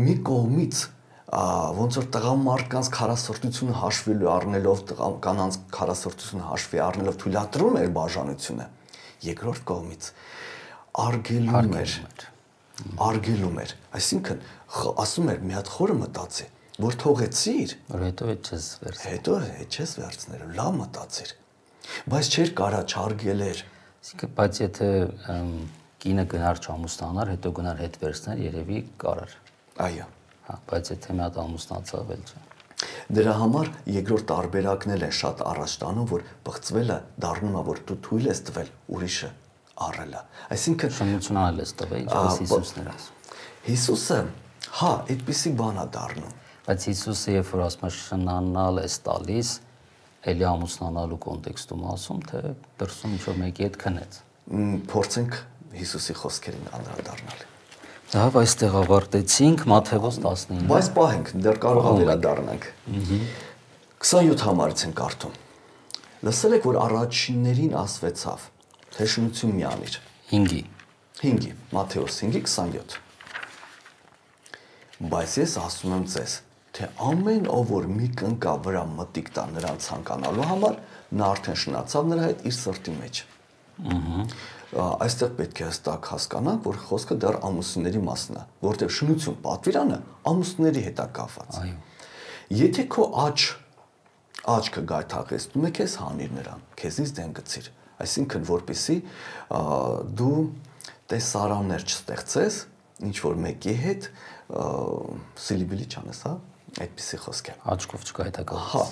Speaker 2: մի կողմից ոնց որ տղամարդկանց քարասրտությունը հաշվելու առնելով կանանց քարասրտությունը հաշվի առնելով թույլատրում էր բաժանությունը, երկրորդ կողմից արգելում էր, արգելում էր, այսինքն ասում էր մի հատ խորը մտածի, որ թողեցիր,
Speaker 1: որ հետո հետ չես վերցնել,
Speaker 2: հետո հետ չես վերցնել, լավ մտածիր, բայց չէր կարա չարգելեր։
Speaker 1: Այսինքն, բայց եթե կինը գնար չամուսնանար, հետո գնար հետ վերցնել, երևի կարար։
Speaker 2: Այո։
Speaker 1: Հա, բայց եթե մի հատ ամուսնացավ էլ չէ։
Speaker 2: Դրա համար երկրորդ տարբերակն էլ է շատ առաջ տանում, որ բղծվելը դառնում է, որ դու թույլ ես տվել ուրիշը առելը։ Այսինքն
Speaker 1: շնություն անել ես տվել, ինչպես Հիսուսն էր ասում։
Speaker 2: Հիսուսը, հա, այդպիսի բան է դառնում։
Speaker 1: Բայց Հիսուսը երբ որ ասում է շնանալ ես տալիս, էլի ամուսնանալու կոնտեքստում ասում, թե դրսում ինչ-որ մեկի հետ քնեց։
Speaker 2: Փորձենք Հիսուսի խոսքերին անդրադառնալ։
Speaker 1: Լավ, այստեղ ավարտեցինք Մատթեոս տասնինը։
Speaker 2: Բայց պահենք, դեռ կարող է վերադառնանք։ քսանյոթ համարից ենք կարդում։ Լսել եք, որ առաջիններին ասվեցավ, թե շնություն մի անիր։
Speaker 1: հինգի։
Speaker 2: հինգի, Մատթեոս հինգի քսանյոթ։ Բայց ես ասում եմ ձեզ, թե ամեն ով որ մի կնկա վրա մտիկ տա նրան ցանկանալու համար, նա արդեն շնացավ նրա հետ իր սրտի մեջ։ Այստեղ պետք է հստակ հասկանանք, որ խոսքը դեռ ամուսինների մասն է, որտեղ շնություն պատվիրանը ամուսինների հետ է կապված։
Speaker 1: Այո։
Speaker 2: Եթե քո աճ աճքը գայթակղեցնում է քեզ, հանիր նրան, քեզից դեն գցիր։ Այսինքն, որպեսզի դու տեսարաններ չստեղծես, ինչ որ մեկի հետ սիլիբիլի չանես, հա, այդպիսի խոսք է։
Speaker 1: Աչքով չգայթակղես։
Speaker 2: Հա։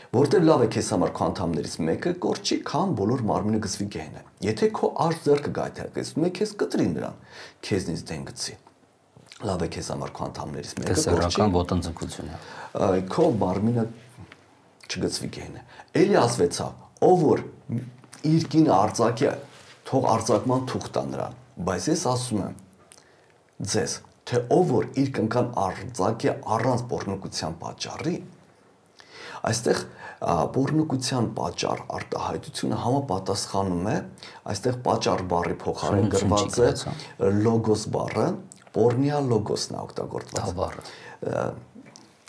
Speaker 2: Որտեղ լավ է քեզ համար քո անդամներից մեկը կորչի, քան բոլոր մարմինը գցվի գեհենը։ Եթե քո աջ ձեռքը գայթակղեցնում է քեզ, կտրի նրան, քեզնից դեն գցի։ Լավ է քեզ համար քո անդամներից մեկը կորչի։
Speaker 1: Տեսարական ոտնձգություն է։
Speaker 2: Քո մարմինը չգցվի գեհենը։ Էլի ասվեցավ, ով որ իր կինը արձակի, թող արձակման թուղթ տա նրան, բայց ես ասում եմ ձեզ, թե ով որ իր կնքան արձակի առանց բռնկության պատճառի, այստեղ բռնկության պատճառ արտահայտությունը համապատասխանում է, այստեղ պատճառ բառի փոխարեն գրված է լոգոս բառը, պորնիա լոգոսն է օգտագործված։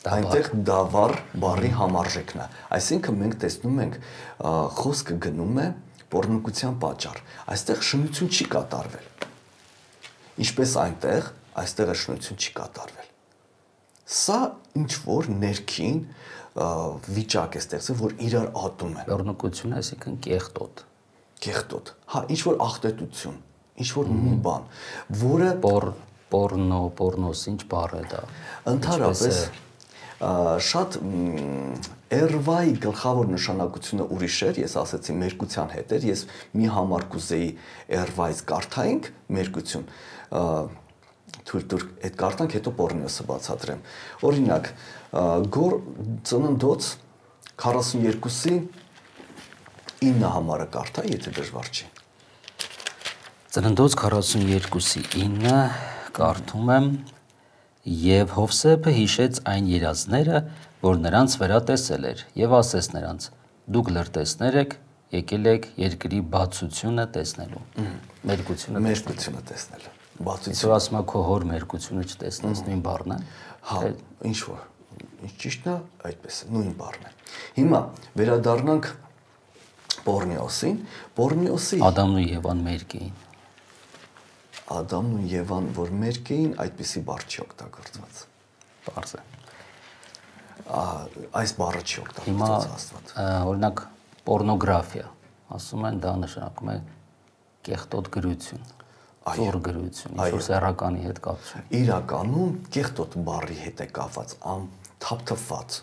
Speaker 2: Այնտեղ դավառ բառի համարժեքն է։ Այսինքն մենք տեսնում ենք խոսքը գնում է բռնկության պատճառ։ Այստեղ շնություն չի կատարվել։ Ինչպես այնտեղ, այստեղ շնություն չի կատարվել։ Սա ինչ որ ներքին վիճակ է ստեղծել, որ իրար ատում են։
Speaker 1: Բռնկությունը, այսինքն կեղտոտ։
Speaker 2: Կեղտոտ։ Հա, ինչ որ աղտոտություն, ինչ որ մի բան, որը
Speaker 1: պորնո, պորնոս, ինչ բառ է դա։
Speaker 2: Ընդհանրապես շատ էրվայի գլխավոր նշանակությունը ուրիշ էր, ես ասացի մերկության հետ էր, ես մի համար կուզեի էրվայից կարդայինք մերկություն, թույլ տուր այդ կարդանք, հետո պորնիոսը բացատրեմ։ Օրինակ, գոր ծննդոց քառասունյոթի ինը համարը կարդա, եթե դժվար չի։
Speaker 1: Ծննդոց քառասունյոթի ինը կարդում եմ. «Եվ Հովսեփը հիշեց այն երազները, որ նրանց վրա տեսել էր, եւ ասեց նրանց. դուք լրտեսներ եք, եկել եք երկրի բացությունը տեսնելու»։ Մերկությունը
Speaker 2: մերկությունը տեսնելու։
Speaker 1: Բացություն ասում է քո հոր մերկությունը չտեսնես, նույն բառն է։
Speaker 2: Հա, ինչ որ։ Ինչ ճիշտն է, այդպես է, նույն բառն է։ Հիմա վերադառնանք Պորնեոսին, Պորնեոսի
Speaker 1: Ադամն ու Եվան մերկ էին։
Speaker 2: Ադամն ու Եվան, որ մերկ էին, այդպիսի բառ չի օգտագործված։
Speaker 1: Պարզ է։
Speaker 2: Այս բառը չի օգտագործված
Speaker 1: Հիմա
Speaker 2: Աստված։
Speaker 1: օրինակ պորնոգրաֆիա, ասում են դա նշանակում է կեղտոտ գրություն, ծուռ գրություն, ինչ-որ սեռականի հետ կապություն։
Speaker 2: Իրականում կեղտոտ բառի հետ է կապված, ամ թափթփված։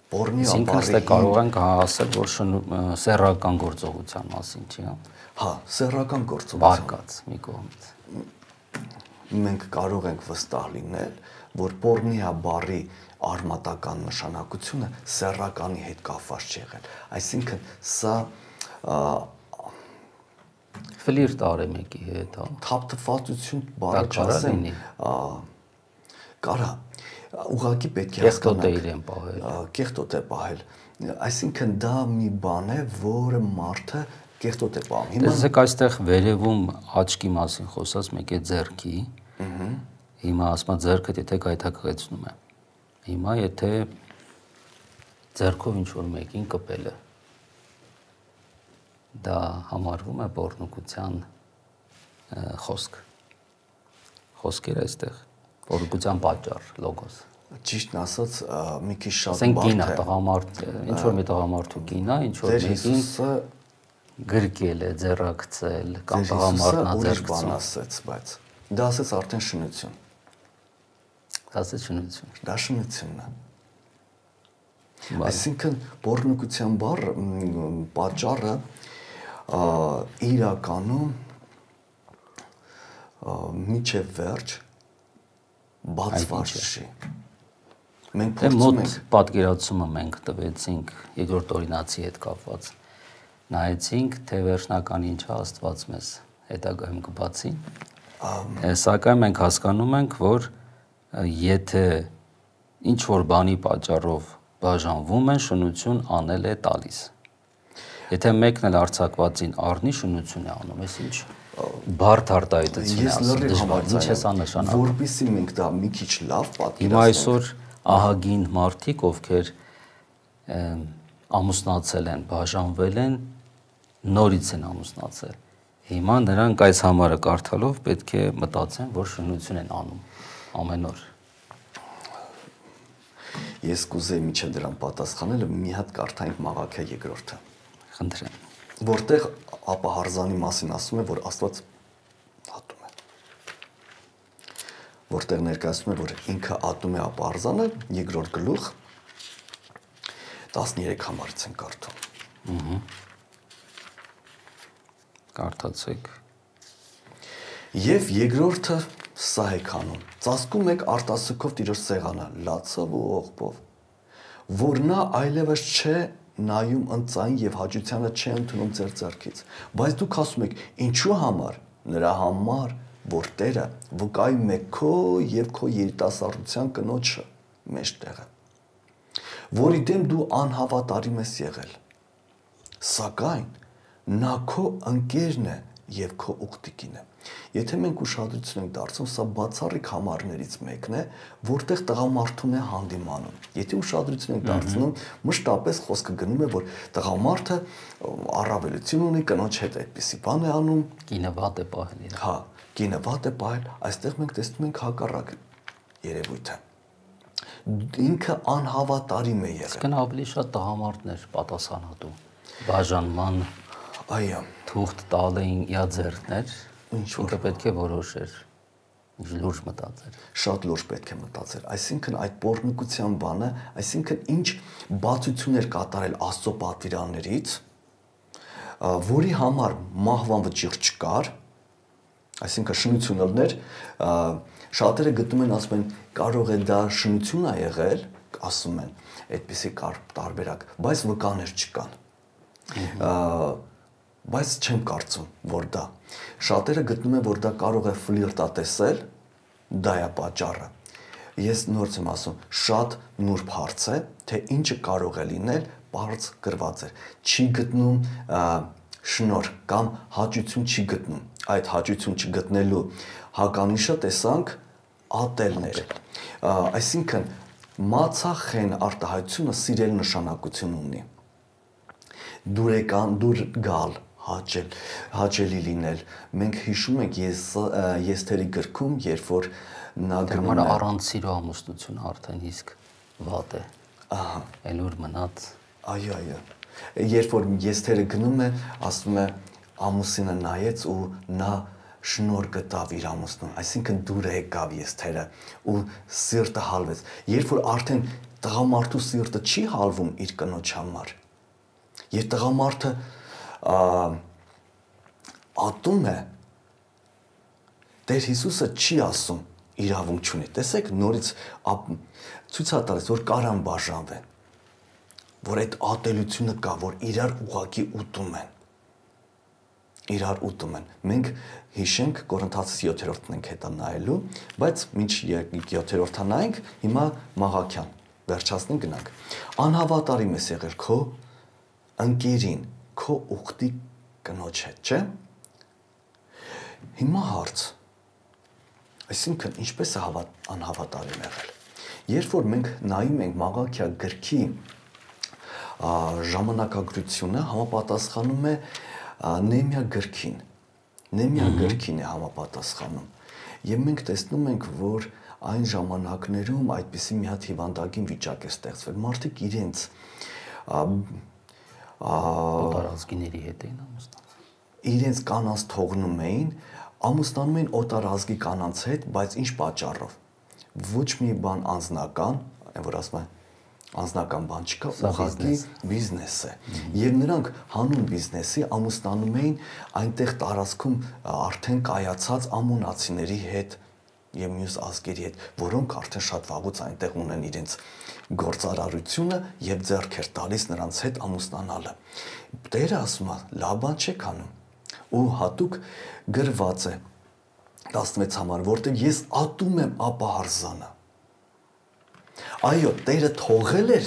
Speaker 2: Պորնեա
Speaker 1: Այսինքն ստե կարող ենք ասել, որ սեռական գործողության մասին չի, հա։
Speaker 2: Հա, սեռական գործողություն։
Speaker 1: Բարկած մի կողմից։
Speaker 2: Մենք կարող ենք վստահ լինել, որ պորնեա բառի արմատական նշանակությունը սեռականի հետ կապված չի եղել։ Այսինքն սա
Speaker 1: ֆլիրտ արե մեկի հետ, հա։
Speaker 2: Թափթփվածություն բառը չասեմ, կարա ուղղակի պետք է
Speaker 1: կեղտոտ է իրեն պահել։
Speaker 2: Կեղտոտ է պահել։ Այսինքն դա մի բան է, որը մարդը կեղտոտ է պահում։
Speaker 1: Տեսեք այստեղ վերևում աչքի մասին խոսած մեկ է ձեռքի։ Հիմա ասма ձեռքդ եթե գայթակղեցնում է։ Հիմա եթե ձեռքով ինչ որ մեկին կպել է, դա համարվում է պոռնոգության խոսք։ Խոսքեր այստեղ պոռնոգության պատճառ, լոգոս։
Speaker 2: Ճիշտն ասած, մի քիչ շատ
Speaker 1: բարդ է։ Ասենք կինա, տղամարդ, ինչ որ մի տղամարդու կինա, ինչ որ մեկին գրկել է, ձեռակցել, կամ տղամարդն է ձեռքցում
Speaker 2: ասեց, բայց դա ասեց արդեն շնություն։
Speaker 1: Դա ասեց շնություն։
Speaker 2: Դա շնությունն է։ Այսինքն պոռնոգության բառ պատճառը իրականում միջև վերջ բացված չի։ Մենք
Speaker 1: փորձում ենք պատկերացումը մենք տվեցինք երկրորդ օրինացի հետ կապված։ Նայեցինք, թե վերջնական ինչա Աստված մեզ հետագայում կբացի։ Սակայն մենք հասկանում ենք, որ եթե ինչ որ բանի պատճառով բաժանվում են, շնություն անել է տալիս։ Եթե մեկն էլ արձակվածին առնի, շնություն է անում, ես ինչ բարդ արտահայտություն է ասում, դժվար, ինչ է սա նշանակում։
Speaker 2: Որպեսզի մենք դա մի քիչ լավ պատկերացնենք։
Speaker 1: Հիմա այսօր ահագին մարդիկ, ովքեր ամուսնացել են, բաժանվել են, նորից են ամուսնացել։ Հիմա նրանք այս համարը կարդալով պետք է մտածեն, որ շնություն են անում ամեն օր։
Speaker 2: Ես կուզեի միջև դրան պատասխանելը մի հատ կարդանք Մաղաքիա երկրորդը։
Speaker 1: Խնդրեմ։
Speaker 2: Որտեղ ապահարզանի մասին ասում է, որ Աստված ատում է։ Որտեղ ներկայացնում է, որ ինքը ատում է ապահարզանը, երկրորդ գլուխ տասներեք համարից են կարդում։
Speaker 1: Ահա։ Կարդացեք։
Speaker 2: Եվ երկրորդը սա եք անում. ծածկում եք արտասուքով Տիրոջ սեղանը, լացով ու ողբով, որ նա այլևս չէ նայում ընծային եւ հաճությանը չի ընդունում ձեր ձեռքից, բայց դուք ասում եք, ինչու համար, նրա համար, որ Տերը վկայում է քո եւ քո երիտասարդության կնոջը մեջտեղը, որի դեմ դու անհավատարիմ ես եղել, սակայն նա քո ընկերն է եւ քո ուխտիկին է։ Եթե մենք ուշադրություն ենք դարձնում, սա բացառիկ համարներից մեկն է, որտեղ տղամարդուն է հանդիմանում։ Եթե ուշադրություն ենք դարձնում, մշտապես խոսքը գնում է, որ տղամարդը առավելություն ունի, կնոջ հետ այդպիսի բան է անում,
Speaker 1: կինը վատ է պահել իրեն։
Speaker 2: Հա, կինը վատ է պահել, այստեղ մենք տեսնում ենք հակառակ երևույթը։ Ինքը անհավատարիմ է եղել։
Speaker 1: Իսկն ավելի շատ տղամարդներ պատասխանատու բաժանման
Speaker 2: այո
Speaker 1: թուղթ տալ էին իա ձեռքներ, ինքը պետք է որոշեր, լուրջ մտածեր։
Speaker 2: Շատ լուրջ պետք է մտածեր, այսինքն այդ պոռնոգության բանը, այսինքն ինչ բացություններ կատարել Աստծո պատվիրաններից, որի համար մահվան վճիռ չկար, այսինքն շնություն ելներ, շատերը գտնում են, ասում են, կարող է դա շնություն է եղել, ասում են, այդպիսի կար տարբերակ, բայց վկաներ չկան։ բայց չեմ կարծում, որ դա։ Շատերը գտնում են, որ դա կարող է ֆլիրտատեսել, դա է պատճառը։ Ես նորից եմ ասում, շատ նուրբ հարց է, թե ինչը կարող է լինել, բարձ գրված է։ Չի գտնում շնորհ կամ հաճություն չի գտնում։ Այդ հաճություն չգտնելու հականիշը տեսանք ատելներ։ Այսինքն մացախեն արտահայտությունը սիրել նշանակություն ունի։ Դուրեկան, դուր գալ, հաճել, հաճելի լինել։ Մենք հիշում ենք ես եստերի գրքում, երբ որ նա
Speaker 1: գնում է առանց սիրո ամուսնություն արդեն իսկ վատ է։
Speaker 2: Ահա,
Speaker 1: այլ ուր մնաց։
Speaker 2: Այո, այո։ Երբ որ եստերը գնում է, ասում է ամուսինը նայեց ու նա շնորհ գտավ իր ամուսնուն, այսինքն դուր եկավ եստերը ու սիրտը հալվեց։ Երբ որ արդեն տղամարդու սիրտը չի հալվում իր կնոջ համար, եւ տղամարդը ատում է, Տեր Հիսուսը չի ասում իրավունք չունի։ Տեսեք, նորից ցույց է տալիս, որ կարան բաժանվեն, որ այդ ատելությունը կա, որ իրար ուղակի ուտում են։ Իրար ուտում են։ Մենք հիշենք Կորինթացիս յոթերորդն ենք հետա նայելու, բայց մինչ յոթերորդը նայենք, հիմա Մաղաքյան վերջացնենք գնանք։ Անհավատարիմ ես եղել քո ընկերին, քո ուխտի կնոջ հետ, չէ՞։ Հիմա հարց։ Այսինքն ինչպես է անհավատարիմ եղել։ Երբ որ մենք նայում ենք Մաղաքիա գրքի ժամանակագրությունը, համապատասխանում է Նեհեմիա գրքին։ Նեհեմիա գրքին է համապատասխանում։ Եվ մենք տեսնում ենք, որ այն ժամանակներում այդպիսի մի հատ հիվանդագին վիճակ է ստեղծվել։ Մարդիկ իրենց
Speaker 1: օտարազգիների հետ էին ամուսնանում։
Speaker 2: Իրենց կանանց թողնում էին, ամուսնանում էին օտարազգի կանանց հետ, բայց ինչ պատճառով։ Ոչ մի բան անձնական, այն որ ասում են անձնական բան չկա, ուղղակի բիզնես է։ Եվ նրանք հանուն բիզնեսի ամուսնանում էին այնտեղ տարածքում արդեն կայացած ամոնացիների հետ եւ մյուս ազգերի հետ, որոնք արդեն շատ վաղուց այնտեղ ունեն իրենց գործարարությունը եւ ձեռք էր տալիս նրանց հետ ամուսնանալը։ Տերը ասում է, լավ բան չեք անում։ Ու հատուկ գրված է տասնվեց համար, որտեղ ես ատում եմ ապահարզանը։ Այո, Տերը թողել էր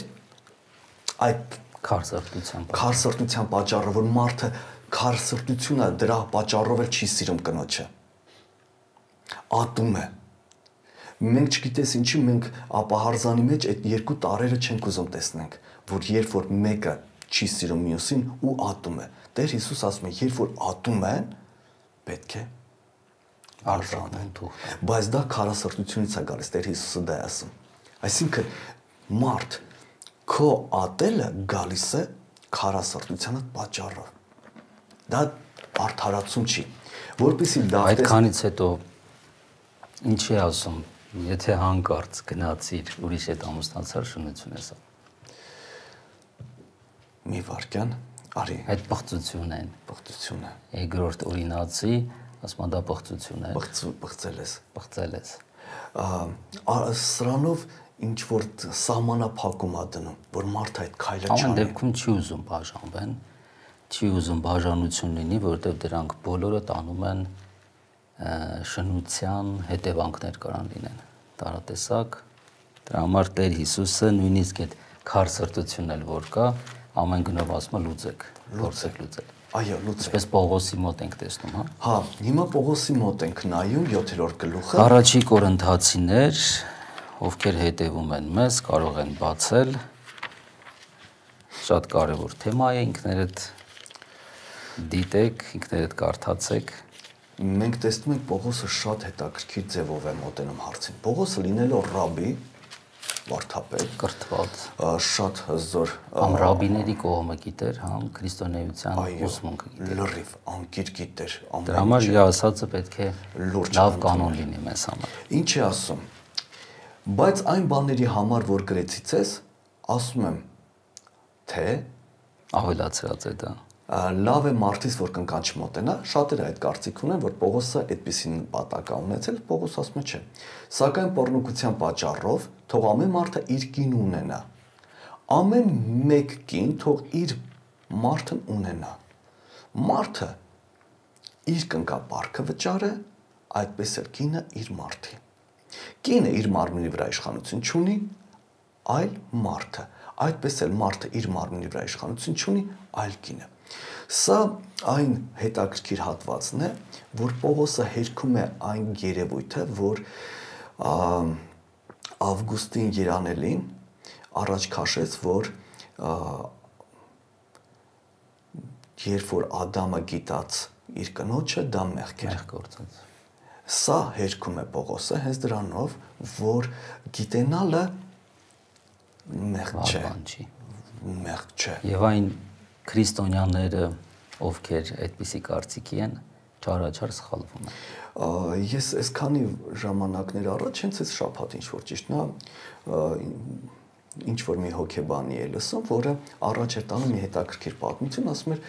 Speaker 2: այդ
Speaker 1: քարսրտության
Speaker 2: քարսրտության պատճառը, որ մարդը քարսրտությունը դրա պատճառով էլ չի սիրում կնոջը։ Ատում է։ Մենք չգիտես ինչի մենք ապահարզանի մեջ այդ երկու տարերը չենք ուզում տեսնենք, որ երբ որ մեկը չի սիրում մյուսին ու ատում է։ Տեր Հիսուս ասում է, երբ որ ատում են, պետք է
Speaker 1: արժանեն թող։
Speaker 2: Բայց դա քարասրտությունից է գալիս, Տեր Հիսուսը դա է ասում։ Այսինքն մարդ քո ատելը գալիս է քարասրտության պատճառով։ Դա արդարացում չի, որպեսզի դա
Speaker 1: այդքանից հետո ինչ է ասում, եթե հանկարծ գնացիր ուրիշ հետ ամուսնացար, շնություն ես անում։
Speaker 2: Մի վարքյան, արի։
Speaker 1: Այդ պղծություն են։
Speaker 2: Պղծություն է։
Speaker 1: Երկրորդ օրինացի, ասում դա պղծություն է։
Speaker 2: Պղծել ես։
Speaker 1: Պղծել ես։
Speaker 2: Սրանով ինչ որ սահմանափակում ա դնում, որ մարդը այդ քայլը չանի։
Speaker 1: Ամեն դեպքում չի ուզում բաժանվեն, չի ուզում բաժանություն լինի, որովհետև դրանք բոլորը տանում են շնության հետևանքներ կարան լինեն։ Տարատեսակ, դրա համար Տեր Հիսուսը նույնիսկ այդ քարսրտությունն էլ որ կա, ամեն գնով ասում է լուծեք, փորձեք լուծել։
Speaker 2: Այո, լուծեք։
Speaker 1: Այսպես Պողոսի մոտ ենք տեսնում, հա։
Speaker 2: Հա, հիմա Պողոսի մոտ ենք նայում յոթերորդ գլուխը։
Speaker 1: Առաջի Կորինթացիներ, ովքեր հետևում են մեզ, կարող են բացել։ Շատ կարևոր թեմա է, ինքներդ դիտեք, ինքներդ կարդացեք։
Speaker 2: Մենք տեսնում ենք Պողոսը շատ հետաքրքիր ձևով է մոտենում հարցին։ Պողոսը լինելով ռաբի, վարդապետ,
Speaker 1: կրթված,
Speaker 2: շատ հզոր
Speaker 1: համ ռաբիների կողմը գիտեր, համ քրիստոնեության ուսմունքը գիտեր։
Speaker 2: Լրիվ անկիր գիտեր։
Speaker 1: Դրա համար իր ասածը պետք է լավ կանոն լինի մեզ համար։
Speaker 2: Ինչ է ասում։ Բայց այն բաների համար, որ գրեցից ես, ասում եմ, թե
Speaker 1: ավելացրած է դա։
Speaker 2: Լավ է մարդից, որ կնքան չմոտենա, շատերը այդ կարծիք ունեն, որ Պողոսը այդպիսին պատակ է ունեցել, Պողոս ասում է չէ։ Սակայն պոռնոգության պատճառով թող ամեն մարդը իր կին ունենա։ Ամեն մեկ կին թող իր մարդն ունենա։ Մարդը իր կնկապարքը վճարը, այդպես էլ կինը իր մարդի։ Կինը իր մարմնի վրա իշխանություն չունի, այլ մարդը, այդպես էլ մարդը իր մարմնի վրա իշխանություն չունի, այլ կինը։ Սա այն հետաքրքիր հատվածն է, որ Պողոսը հերքում է այն երևույթը, որ Ավգուստին Երանելին առաջ քաշեց, որ երբ որ Ադամը գիտած իր կնոջը, դա մեղք էր
Speaker 1: գործած։
Speaker 2: Սա հերքում է Պողոսը հենց դրանով, որ գիտենալը մեղք չէ, մեղք չէ։
Speaker 1: Եվ այն քրիստոնյաները, ովքեր այդպիսի կարծիքի են, չարաչար սխալվում են։
Speaker 2: Ես այսքանի ժամանակներ առաջ հենց այս շաբաթ ինչ որ ճիշտ նա ինչ որ մի հոգեբանի է լսում, որը առաջ էր տանում մի հետաքրքիր պատմություն, ասում էր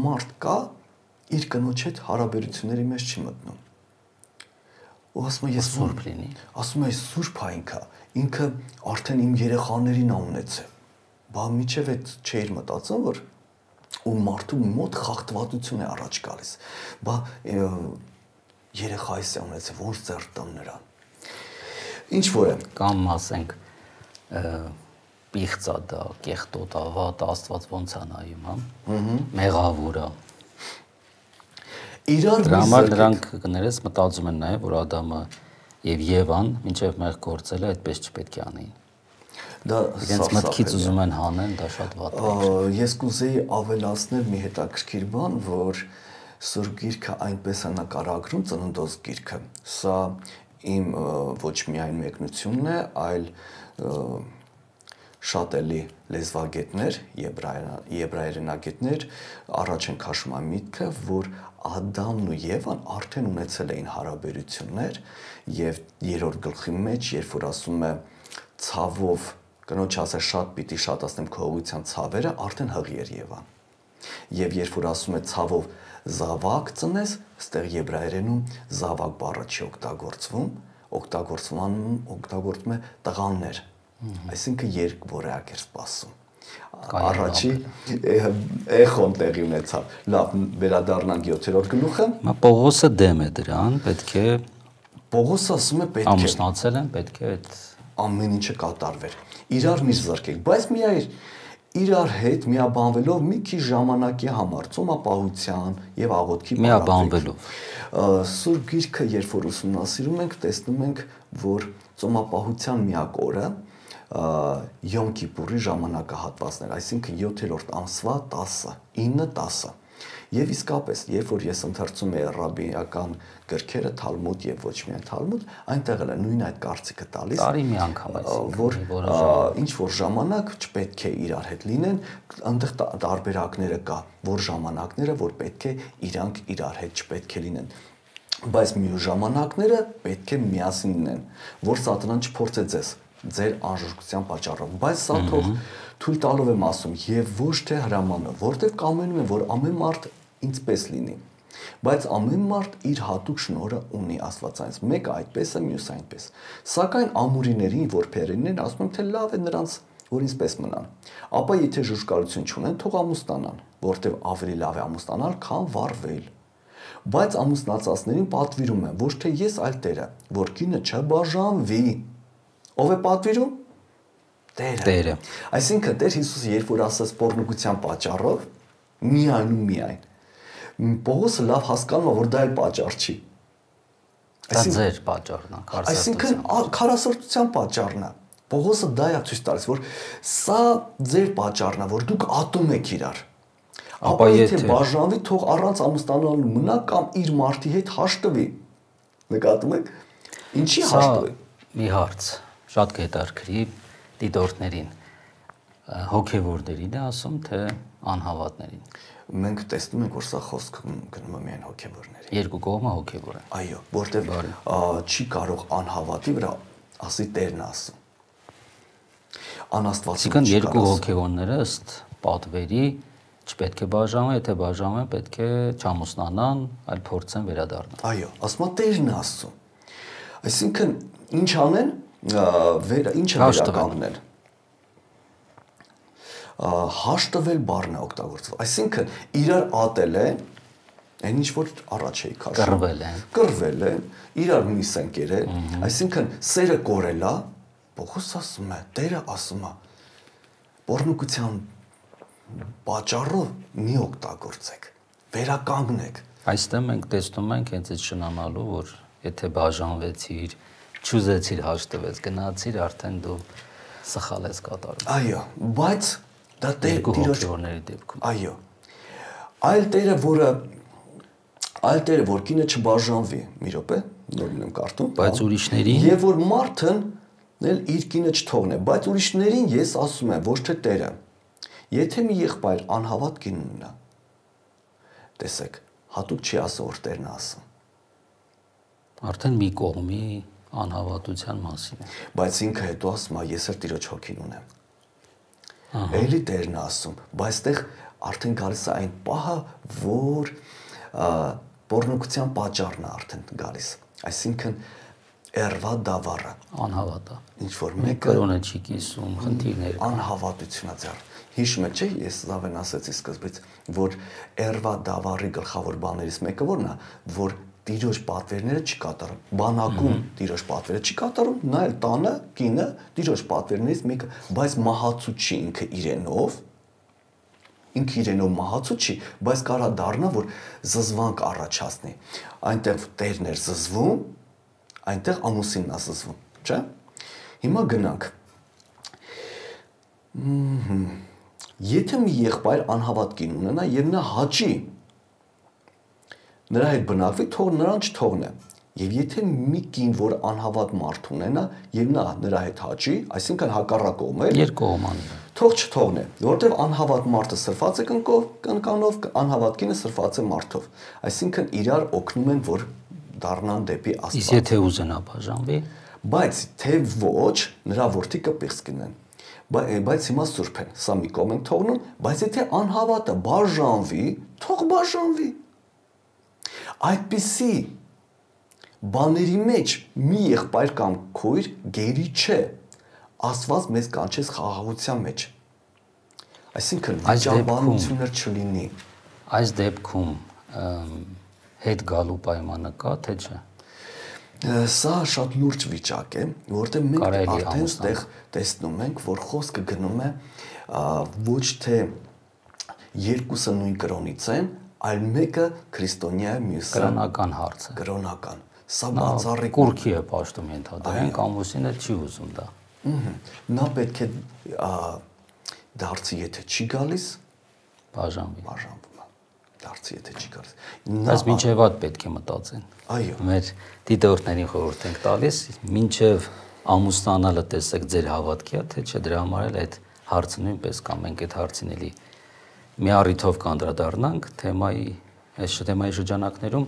Speaker 2: մարդ կա իր կնոջ հետ հարաբերությունների մեջ չի մտնում։ Ու ասում է ես
Speaker 1: սուրբ լինի։
Speaker 2: Ասում է սուրբ է ինքը, ինքը արդեն իմ երեխաներին ունեցել։ Բա միջև այդ չէր մտածում, որ ու մարդու մոտ խախտվածություն է առաջ գալիս։ Բա երեխայիս է ունեցել, ոնց ձեռ տան նրան։ Ինչ որ է։
Speaker 1: Կամ ասենք պիղծա դա, կեղտոտ ավատ, Աստված ոնց է նայում, հա։ Մեղավոր է։
Speaker 2: Իրար
Speaker 1: դրա համար նրանք կներես մտածում են նաև, որ Ադամը եւ Եվան մինչեւ մեղ գործելը այդպես չպետք է անեին։
Speaker 2: Դա
Speaker 1: իրենց մտքից ուզում են հանեն, դա շատ վատ է։
Speaker 2: Ես կուզեի ավելացնել մի հետաքրքիր բան, որ Սուրբ Գիրքը այնպես է նկարագրում ծննդոց գիրքը։ Սա իմ ոչ միայն մեկնությունն է, այլ շատ էլի լեզվագետներ, եբրայերենագետներ առաջ են քաշում այն միտքը, որ Ադամն ու Եվան արդեն ունեցել էին հարաբերություններ եւ երրորդ գլխի մեջ, երբ որ ասում է ցավով կնոջ ասել շատ պիտի շատացնեմ քո ուղղության ցավերը, արդեն հղի էր Եվան։ Եվ երբ որ ասում է ցավով զավակ ծնես, այստեղ եբրայերենում զավակ բառը չի օգտագործվում, օգտագործվում օգտագործվում է տղաներ։ Այսինքն երկ որակ էր սպասում։ Առաջի էխոն տեղի ունեցավ։ Լավ, վերադառնանք յոթերորդ գլուխը։
Speaker 1: Մա Պողոսը դեմ է դրան, պետք է
Speaker 2: Պողոսը ասում է պետք է
Speaker 1: ամուսնացել են, պետք է այդ
Speaker 2: ամեն ինչը կատարվեր։ Իրար մի զրկեք, բայց միայն իրար հետ միաբանվելով մի քիչ ժամանակի համար ծոմապահության եւ աղոթքի
Speaker 1: միաբանվելով
Speaker 2: Սուրբ Գիրքը երբ որ ուսումնասիրում ենք, տեսնում ենք, որ ծոմապահության միակ օրը Յոմ Կիպուրի ժամանակահատվածներ, այսինքն յոթերորդ ամսվա տասը, ինը տասը։ Եվ իսկապես, երբ որ ես ընթերցում եի ռաբինական գրքերը, Թալմուդ եւ ոչ միայն Թալմուդ, այնտեղ էլ է նույն այդ կարծիքը տալիս,
Speaker 1: տարի մի անգամ
Speaker 2: որ ինչ որ ժամանակ չպետք է իրար հետ լինեն, այնտեղ տարբերակները կա, որ ժամանակները, որ պետք է իրանք իրար հետ չպետք է լինեն։ Բայց մյուս ժամանակները պետք է միասին լինեն, որ Սատանան չփորձե ձեզ ձեր անժրկության պատճառով, բայց սա թող թույլ տալով եմ ասում եւ ոչ թե հրամանը, որտեղ կամենում եմ, որ ամեն մարդ ինձպես լինի, բայց ամեն մարդ իր հատուկ շնորհը ունի Աստվածանից, մեկը այդպես է, մյուսը այնպես, սակայն ամուրիներին, որբերիներին ասում եմ, թե լավ է նրանց, որ ինձպես մնան, ապա եթե ժուժկալություն չունեն, թող ամուսնանան, որտեղ ավելի լավ է ամուսնանալ, քան վառվել, բայց ամուսնացածներին պատվիրում եմ, ոչ թե ես, այլ Տերը, որ կինը չբաժանվի։ Ով է պատվիրում։ Տերը։
Speaker 1: Տերը։
Speaker 2: Այսինքն Տեր Հիսուսը երբ որ ասաց պոռնոգության պատճառով, միայն ու միայն Պողոսը լավ հասկանում է, որ դա էլ պատճառ չի։
Speaker 1: Դա ձեր պատճառն է, քարսարտության։
Speaker 2: Այսինքն քարսարտության պատճառն է։ Պողոսը դա է ցույց տալիս, որ սա ձեր պատճառն է, որ դուք ատում եք իրար։ Ապա եթե բաժանվի, թող առանց ամուսնանալու մնա կամ իր մարդի հետ հաշտվի։ Նկատում եք։ Ինչի հաշտվի։
Speaker 1: Մի հարց, շատ կհետաքրքրի դիտորդներին, հոգևորներին է ասում, թե անհավատներին։
Speaker 2: Մենք տեսնում ենք, որ սա խոսքը գնում է միայն հոգևորների։
Speaker 1: Երկու կողմը հոգևոր է։
Speaker 2: Այո, որտեղ չի կարող անհավատի վրա ասի Տերն ասում։ Անաստվածություն
Speaker 1: չի կարող։ Երկու հոգևորները ըստ պատվերի չպետք է բաժանվեն, եթե բաժանվեն, պետք է չամուսնանան, այլ փորձեն վերադառնալ։
Speaker 2: Այո, ասում է Տերն ասում։ Այսինքն ինչ անեն, ինչը վերականգնել։ հաշտվել բառն է օգտագործվում։ Այսինքն իրար ատել են, այն ինչ որ առաջ էի քաշում։
Speaker 1: Կռվել են։
Speaker 2: Կռվել են, իրար միս են կերել, այսինքն սերը կորել է, Պողոս ասում է, Տերը ասում է, բորնուկության պատճառով մի օգտագործեք, վերականգնեք։
Speaker 1: Այստեղ մենք տեսնում ենք հենց այդ շնանալու, որ եթե բաժանվեցիր, չուզեցիր հաշտվես, գնացիր, արդեն դու սխալ ես կատարում։
Speaker 2: Այո, բայց դա Տիրոջ
Speaker 1: դեպքում։
Speaker 2: Այո։ Այլ Տերը, որը այլ Տերը, որ կինը չբաժանվի, մի րոպե, նորին եմ կարդում,
Speaker 1: բայց ուրիշներին
Speaker 2: եւ որ մարդն էլ իր կինը չթողնե, բայց ուրիշներին ես ասում եմ, ոչ թե Տերը։ Եթե մի եղբայր անհավատ կին ունենա, տեսեք, հատուկ չի ասում, որ Տերն է ասում։
Speaker 1: Արդեն մի կողմի անհավատության մասին է։
Speaker 2: Բայց ինքը հետո ասում է, ես էլ Տիրոջ հոգին ունեմ։ Էլի Տերն է ասում, բայց այդտեղ արդեն գալիս է այն պահը, որ բորնուկության պատճառն է արդեն գալիս։ Այսինքն Էրվա դավառը
Speaker 1: անհավատա։
Speaker 2: Ինչ որ մեկը
Speaker 1: կրոնը չի կիսում, խնդիրներ կան։
Speaker 2: Անհավատությունա ձեռ։ Հիշում եք, չէ՞, ես լավեն ասեցի սկզբից, որ Էրվա դավառի գլխավոր բաներից մեկը որն է, որ Տիրոջ պատվերները չի կատարում։ Բանակում Տիրոջ պատվերը չի կատարում, նա էլ տանը կինը Տիրոջ պատվերներից մեկը, բայց մահացու չի ինքը իրենով, ինքը իրենով մահացու չի, բայց կարա դառնա, որ զզվանք առաջացնի։ Այնտեղ Տերն էր զզվում, այնտեղ ամուսինն է զզվում, չէ՞։ Հիմա գնանք։ Եթե մի եղբայր անհավատ կին ունենա եւ նա հաճի նրա հետ բնակվի, թող նրան չթողնե։ Եվ եթե մի կին, որ անհավատ մարդ ունենա եւ նա նրա հետ հաճի, այսինքն հակառակ կողմ է,
Speaker 1: երկկողմանի,
Speaker 2: թող չթողնե, որովհետեւ անհավատ մարդը սրված է կնկով, կնկանով, անհավատ կինը սրված է մարդով։ Այսինքն իրար օգնում են, որ դառնան դեպի Աստված։
Speaker 1: Իսկ եթե ուզենա բաժանվի,
Speaker 2: բայց թե ոչ, նրա որդիկը պիղծ կնեն։ Բայց հիմա սուրբ են, սա մի կողմ են թողնում, բայց եթե անհավատը բաժանվի, թող բաժանվի։ Այդպիսի բաների մեջ մի եղբայր կամ քույր գերի չէ։ Աստված մեզ կանչեց խաղաղության մեջ։ Այսինքն վիճաբանություններ չլինի։
Speaker 1: Այս դեպքում հետ գալու պայմանը կա, թե չէ։
Speaker 2: Սա շատ լուրջ վիճակ է, որտեղ մենք արդեն այդտեղ տեսնում ենք, որ խոսքը գնում է ոչ թե երկուսը նույն կրոնից են, այլ մեկը քրիստոնյա է, մյուսը
Speaker 1: կրոնական հարց է։
Speaker 2: Կրոնական։ Սա բացառիկ
Speaker 1: կուրքի է պաշտում ենթադրենք, ամուսինը չի ուզում դա։
Speaker 2: Նա պետք է դարձի, եթե չի գալիս,
Speaker 1: բաժանվի։
Speaker 2: Բաժանվում է։ Դարձի, եթե չի գալիս։
Speaker 1: Բայց մինչև այդ պետք է մտածեն։
Speaker 2: Այո։
Speaker 1: Մեր դիտորդներին խորհուրդ ենք տալիս, մինչև ամուսնանալը տեսեք ձեր հավատքի է, թե չէ, դրա համար էլ այդ հարցը նույնպես կամ մենք այդ հարցին էլի մի առիթով կանդրադառնանք թեմայի, այս թեմայի շրջանակներում,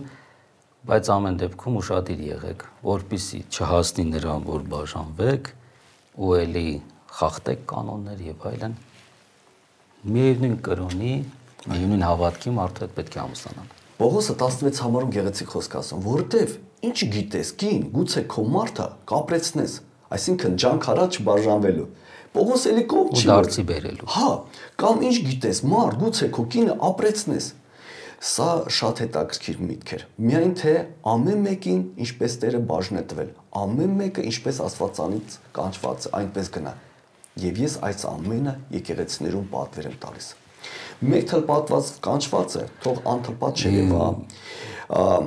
Speaker 1: բայց ամեն դեպքում ուշադիր եղեք, որպեսզի չհասնի նրան, որ բաժանվեք ու էլի խախտեք կանոններ եւ այլն։ Միևնույն կրոնի, միևնույն հավատքի մարդու հետ պետք է ամուսնանալ։
Speaker 2: Պողոսը տասնվեց համարում գեղեցիկ խոսք ասում, որովհետև ինչ գիտես, կին, գուցե քո մարդը կապրեցնես, այսինքն ջանք առաջ բաժանվելու։ Պողոս էլի կողմ չի
Speaker 1: դարձի բերելու։
Speaker 2: Հա, կամ ինչ գիտես, մարդ, գուցե քո կինը ապրեցնես։ Սա շատ հետաքրքիր միտք էր։ Միայն թե ամեն մեկին ինչպես Տերը բաժն է տվել, ամեն մեկը ինչպես Աստվածանից կանչված այնպես գնա։ Եվ ես այս ամենը եկեղեցիներում պատվեր եմ տալիս։ Մեկ թլպատված կանչված է, թող անթլպատ չերևա։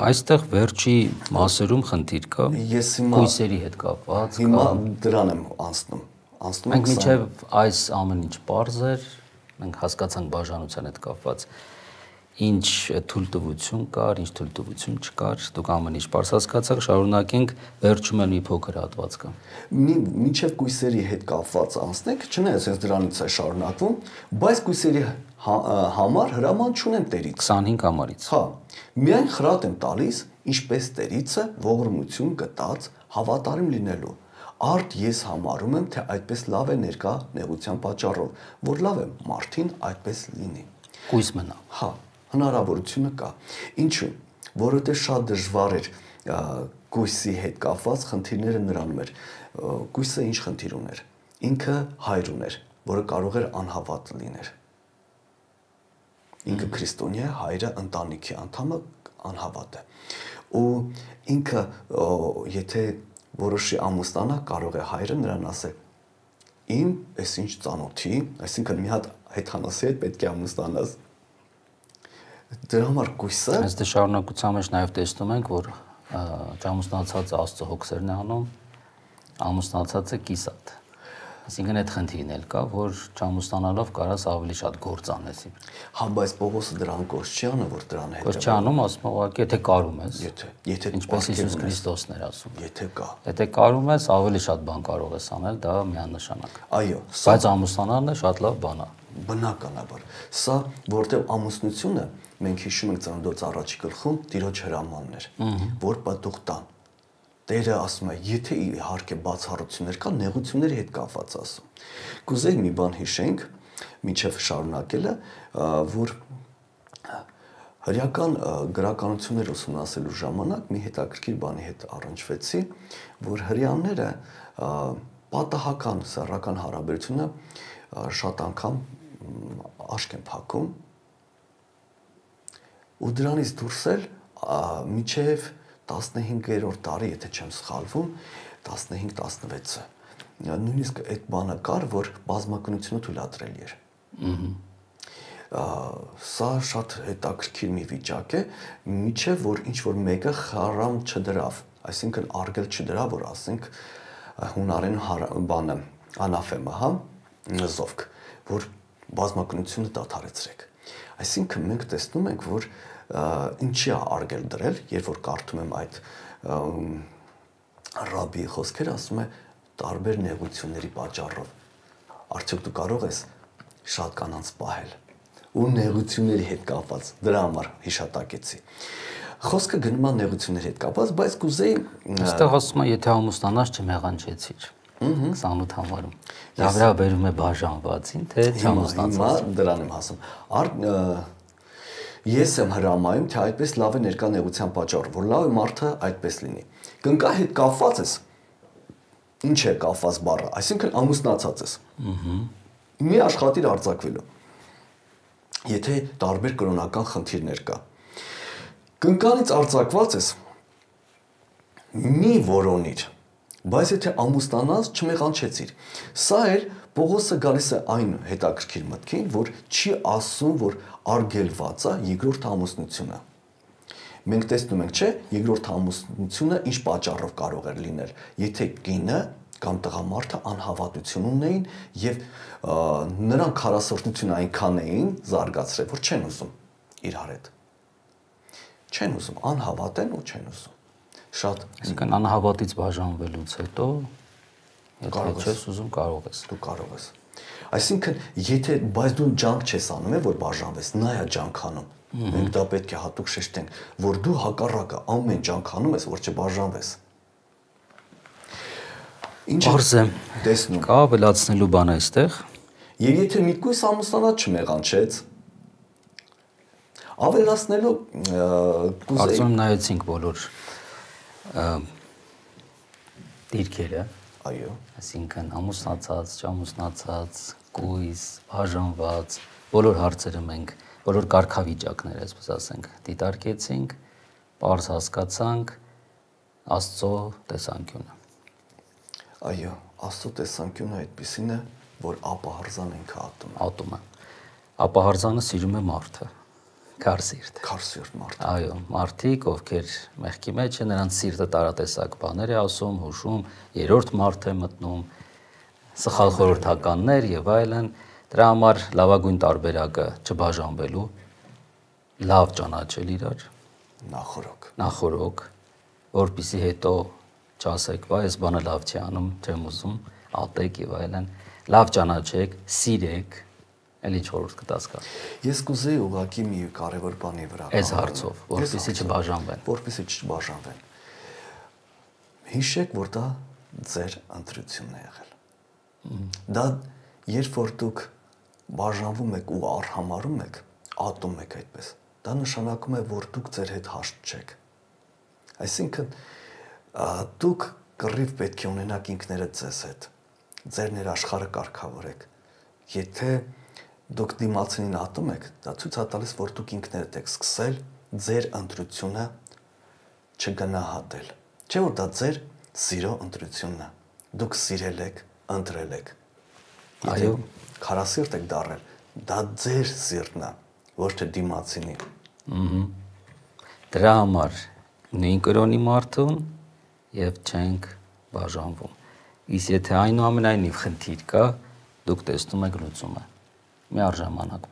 Speaker 1: Այստեղ վերջի մասերում խնդիր կա։
Speaker 2: Ես հիմա
Speaker 1: կույսերի հետ կապված,
Speaker 2: հիմա դրան եմ անցնում։ Անցնում
Speaker 1: ենք մինչև այս ամեն ինչ པարզ էր, մենք հասկացանք բաժանության հետ կապված ինչ թույլտվություն կար, ինչ թույլտվություն չկար, դուք ամեն ինչ པարզ հասկացաք, շարունակենք, վերջում էլ մի փոքր հատված կա։
Speaker 2: Մինչև կույսերի հետ կապված անցնենք, չնայած ես դրանից է շարունակվում, բայց կույսերի համար հրաման չունեմ Տերից։
Speaker 1: քսանհինգ համարից։
Speaker 2: Հա, միայն խրատ եմ տալիս, ինչպես Տերիցը ողորմություն գտած հավատարիմ լինելու։ Արդ ես համարում եմ, թե այդպես լավ է ներկա նեղության պատճառով, որ լավ է մարդին այդպես լինի։
Speaker 1: Կույս մնա։
Speaker 2: Հա, հնարավորությունը կա։ Ինչու՞, որովհետև շատ դժվար էր կույսի հետ կապված խնդիրները նրանում էր։ Կույսը ինչ խնդիր ուներ։ Ինքը հայր ուներ, որը կարող էր անհավատ լիներ։ Ինքը քրիստոնյա է, հայրը ընտանիքի անդամը անհավատ է։ Ու ինքը եթե որոշի ամուսնանա, կարող է հայրը նրան ասել. «Իմ էս ինչ ծանոթի, այսինքն մի հատ հեթանոսի հետ պետք է ամուսնանաս»։ Դրա համար կույսը
Speaker 1: Այս դե շարունակության մեջ նաև տեսնում ենք, որ ամուսնացածը Աստծո հոգսերն է անում, ամուսնացածը կիսատ։ Այսինքն այդ խնդիրն էլ կա, որ չամուսնանալով կարաս ավելի շատ գործ անես։
Speaker 2: Հա, բայց Պողոսը դրան գործ չի անում, որ դրան հետ։
Speaker 1: Գործ չի անում, ասում ուղղակի եթե կարում ես։
Speaker 2: Եթե, եթե
Speaker 1: ինչպես Հիսուս Քրիստոսն էր ասում։
Speaker 2: Եթե կա։
Speaker 1: Եթե կարում ես, ավելի շատ բան կարող ես անել, դա միանշանակ։
Speaker 2: Այո,
Speaker 1: բայց ամուսնանալն է շատ լավ բան է։
Speaker 2: Բնականաբար։ Սա, որտեղ ամուսնությունը, մենք հիշում ենք Ծննդոց առաջի գլխում Տիրոջ հրամանն էր, որ պատուղ տան։ Տերը ասում է, եթե իհարկե բացառություններ կա, նեղությունների հետ կապված ասում։ Կուզեի մի բան հիշենք, մինչև շարունակելը, որ հրեական գրականություններ ուսումնասիրելու ժամանակ մի հետաքրքիր բանի հետ առնչվեցի, որ հրեաները պատահական սեռական հարաբերությունը շատ անգամ աշկ են փակում ու դրանից դուրս էլ մինչև տասնհինգերորդ դարի, եթե չեմ սխալվում, տասնհինգ տասնվեցը։ Նույնիսկ այդ բանը կար, որ բազմակնությունը թույլատրելի էր։ Սա շատ հետաքրքիր մի վիճակ է, միջև որ ինչ որ մեկը խարամ չդրավ, այսինքն արգել չդրավ, որ ասենք հունարեն բանը անաֆեմա, հա, զովք, որ բազմակնությունը դադարեցրեք։ Այսինքն մենք տեսնում ենք, որ ինչի է արգել դրել, երբ որ կարդում եմ այդ ռաբբի խոսքերը, ասում է տարբեր նեղությունների պատճառով։ Արդյոք դու կարող ես շատ կանանց պահել ու նեղությունների հետ կապված, դրա համար հիշատակեցի։ Խոսքը գնում է նեղությունների հետ կապված, բայց կուզեի
Speaker 1: այստեղ ասում է, եթե ամուսնանաս չմեղանչեցիր։ քսանութ համարում։ Դա վրա բերում է բաժանվածին, թե չամուսնացած։
Speaker 2: Հիմա դրան եմ ասում։ Ես եմ հրամայում, թե այդպես լավ է ներկա նեղության պատճառով, որ լավ է մարդը այդպես լինի։ Կնկա հետ կապված ես։ Ինչ է կապված բառը, այսինքն ամուսնացած ես։ Մի աշխատիր արձակվելու։ Եթե տարբեր կրոնական խնդիրներ կա։ Կնկանից արձակված ես, մի որոնիր, բայց եթե ամուսնանաս չմեղանչեցիր։ Սա էլ Պողոսը գալիս է այն հետաքրքիր մտքին, որ չի ասում, որ արգելված է երկրորդ ամուսնությունը։ Մենք տեսնում ենք, չէ, երկրորդ ամուսնությունը ինչ պատճառով կարող էր լինել, եթե կինը կամ տղամարդը անհավատություն ունեին եւ նրանք քարասրտություն այնքան էին զարգացրել, որ չեն ուզում իրար հետ։ Չեն ուզում, անհավատ են ու չեն ուզում։ Շատ
Speaker 1: այսինքն անհավատից բաժանվելուց հետո եթե չես ուզում կարող ես։
Speaker 2: Դու կարող ես։ Այսինքն, եթե բայց դու ջանք չես անում, է որ բաժանվես, նա է ջանք անում։ Մենք դա պետք է հատուկ շեշտենք, որ դու հակառակը ամեն ջանք անում ես, որ չբաժանվես։
Speaker 1: Պարզ է,
Speaker 2: տեսնում։
Speaker 1: Կա ավելացնելու բան այստեղ։
Speaker 2: Եվ եթե մի կույս ամուսնանած չմեղանչեց, ավելացնելու կուզեի։
Speaker 1: Կարծում նայեցինք բոլոր դիրքերը։
Speaker 2: Այո։
Speaker 1: Այսինքն ամուսնացած, չամուսնացած, կույս, բաժանված, բոլոր հարցերը մենք, բոլոր կարգավիճակները, այսպես ասենք, դիտարկեցինք, պարզ հասկացանք Աստծո տեսանկյունը։
Speaker 2: Այո, Աստծո տեսանկյունը այդպիսին է, որ ապահարզան ինքը ատում է։
Speaker 1: Ատում է։ Ապահարզանը սիրում է մարդը, քարսիրտ։
Speaker 2: Քարսիրտ մարդ։
Speaker 1: Այո, մարդիկ, ովքեր մեղքի մեջ են, նրանց սիրտը տարատեսակ բաներ է ասում, հուշում, երրորդ մարդ է մտնում, սխալ խորհրդականներ եւ այլն։ Դրա համար լավագույն տարբերակը չբաժանվելու, լավ ճանաչել իրար,
Speaker 2: նախորոք։
Speaker 1: Նախորոք, որպեսզի հետո չասեք, վայ, այս բանը լավ չի անում, չեմ ուզում, ատեք եւ այլն։ Լավ ճանաչեք, սիրեք, էլի չորդ կտաս կա։
Speaker 2: Ես կուզեի ուղղակի մի կարևոր բանի վրա։
Speaker 1: Այս հարցով, որպեսզի չբաժանվեն։
Speaker 2: Որպեսզի չբաժանվեն։ Հիշեք, որ դա ձեր ընտրությունն է եղել։ Դա երբ որ դուք բաժանվում եք ու արհամարում եք, ատում եք այդպես, դա նշանակում է, որ դուք ձեր հետ հաշտ չեք։ Այսինքն դուք կռիվ պետք է ունենաք ինքներդ ձեզ հետ, ձեր ներաշխարհը կարգավորեք, Եթե դուք դիմացին ատում եք, դա ցույց է տալիս, որ դուք ինքներդ եք սկսել ձեր ընտրությունը չգնահատել։ Չէ՞ որ դա ձեր սիրո ընտրությունն է։ Դուք սիրել եք, ընտրել եք։
Speaker 1: Այո,
Speaker 2: քարասիրտ եք դառել, դա ձեր սիրտն է, ոչ թե դիմացինի։
Speaker 1: Ահա։ Դրա համար նույն կրոնի մարդուն եւ չենք բաժանվում։ Իսկ եթե այնուամենայնիվ խնդիր կա, դուք տեսնում եք լուծումը։ Միառժամանակ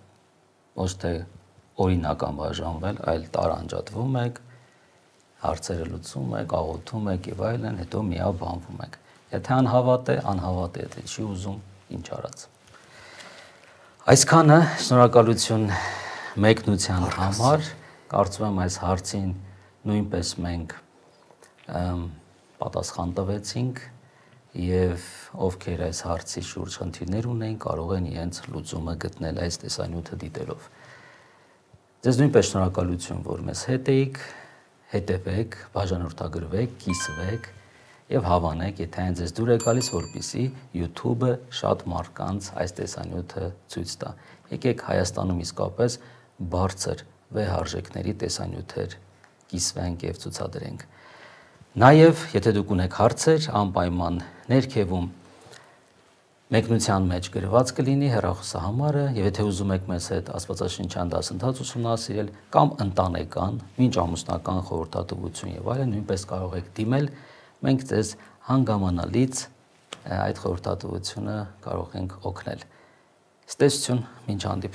Speaker 1: ոչ թե օրինական բաժանվել, այլ տարանջատվում եք, հարցերը լուծում եք, աղոթում եք եւ այլն, հետո միաբանվում եք։ Եթե անհավատ է, անհավատ է, եթե չի ուզում, ինչ արած։ Այսքանը շնորհակալություն մեկնության համար, կարծում եմ այս հարցին նույնպես մենք պատասխան տվեցինք եւ ովքեր այս հարցի շուրջ խնդիրներ ունեն, կարող են իրենց լուծումը գտնել այս տեսանյութը դիտելով։ Ձեզ նույնպես շնորհակալություն, որ մեզ հետ էիք, հետևեք, բաժանորդագրվեք, կիսվեք եւ հավանեք, եթե այն ձեզ դուր է գալիս, որպեսզի YouTube-ը շատ մարդկանց այս տեսանյութը ցույց տա։ Եկեք Հայաստանում իսկապես բարձր վեհարժեքների տեսանյութեր կիսվենք եւ ցուցադրենք։ Նաեւ, եթե դուք ունեք հարցեր, անպայման ներքևում մեկնության մեջ գրված կլինի հեռախոսահամարը, եւ եթե ուզում եք մեզ հետ աստվածաշնչյան դասընթաց ուսումնասիրել կամ ընտանեկան, մինչ ամուսնական խորհրդատվություն եւ այլն, նույնպես կարող եք դիմել, մենք ձեզ հանգամանալից այդ խորհրդատվությունը կարող ենք օգնել։ Ստեսություն, մինչ հանդիպում։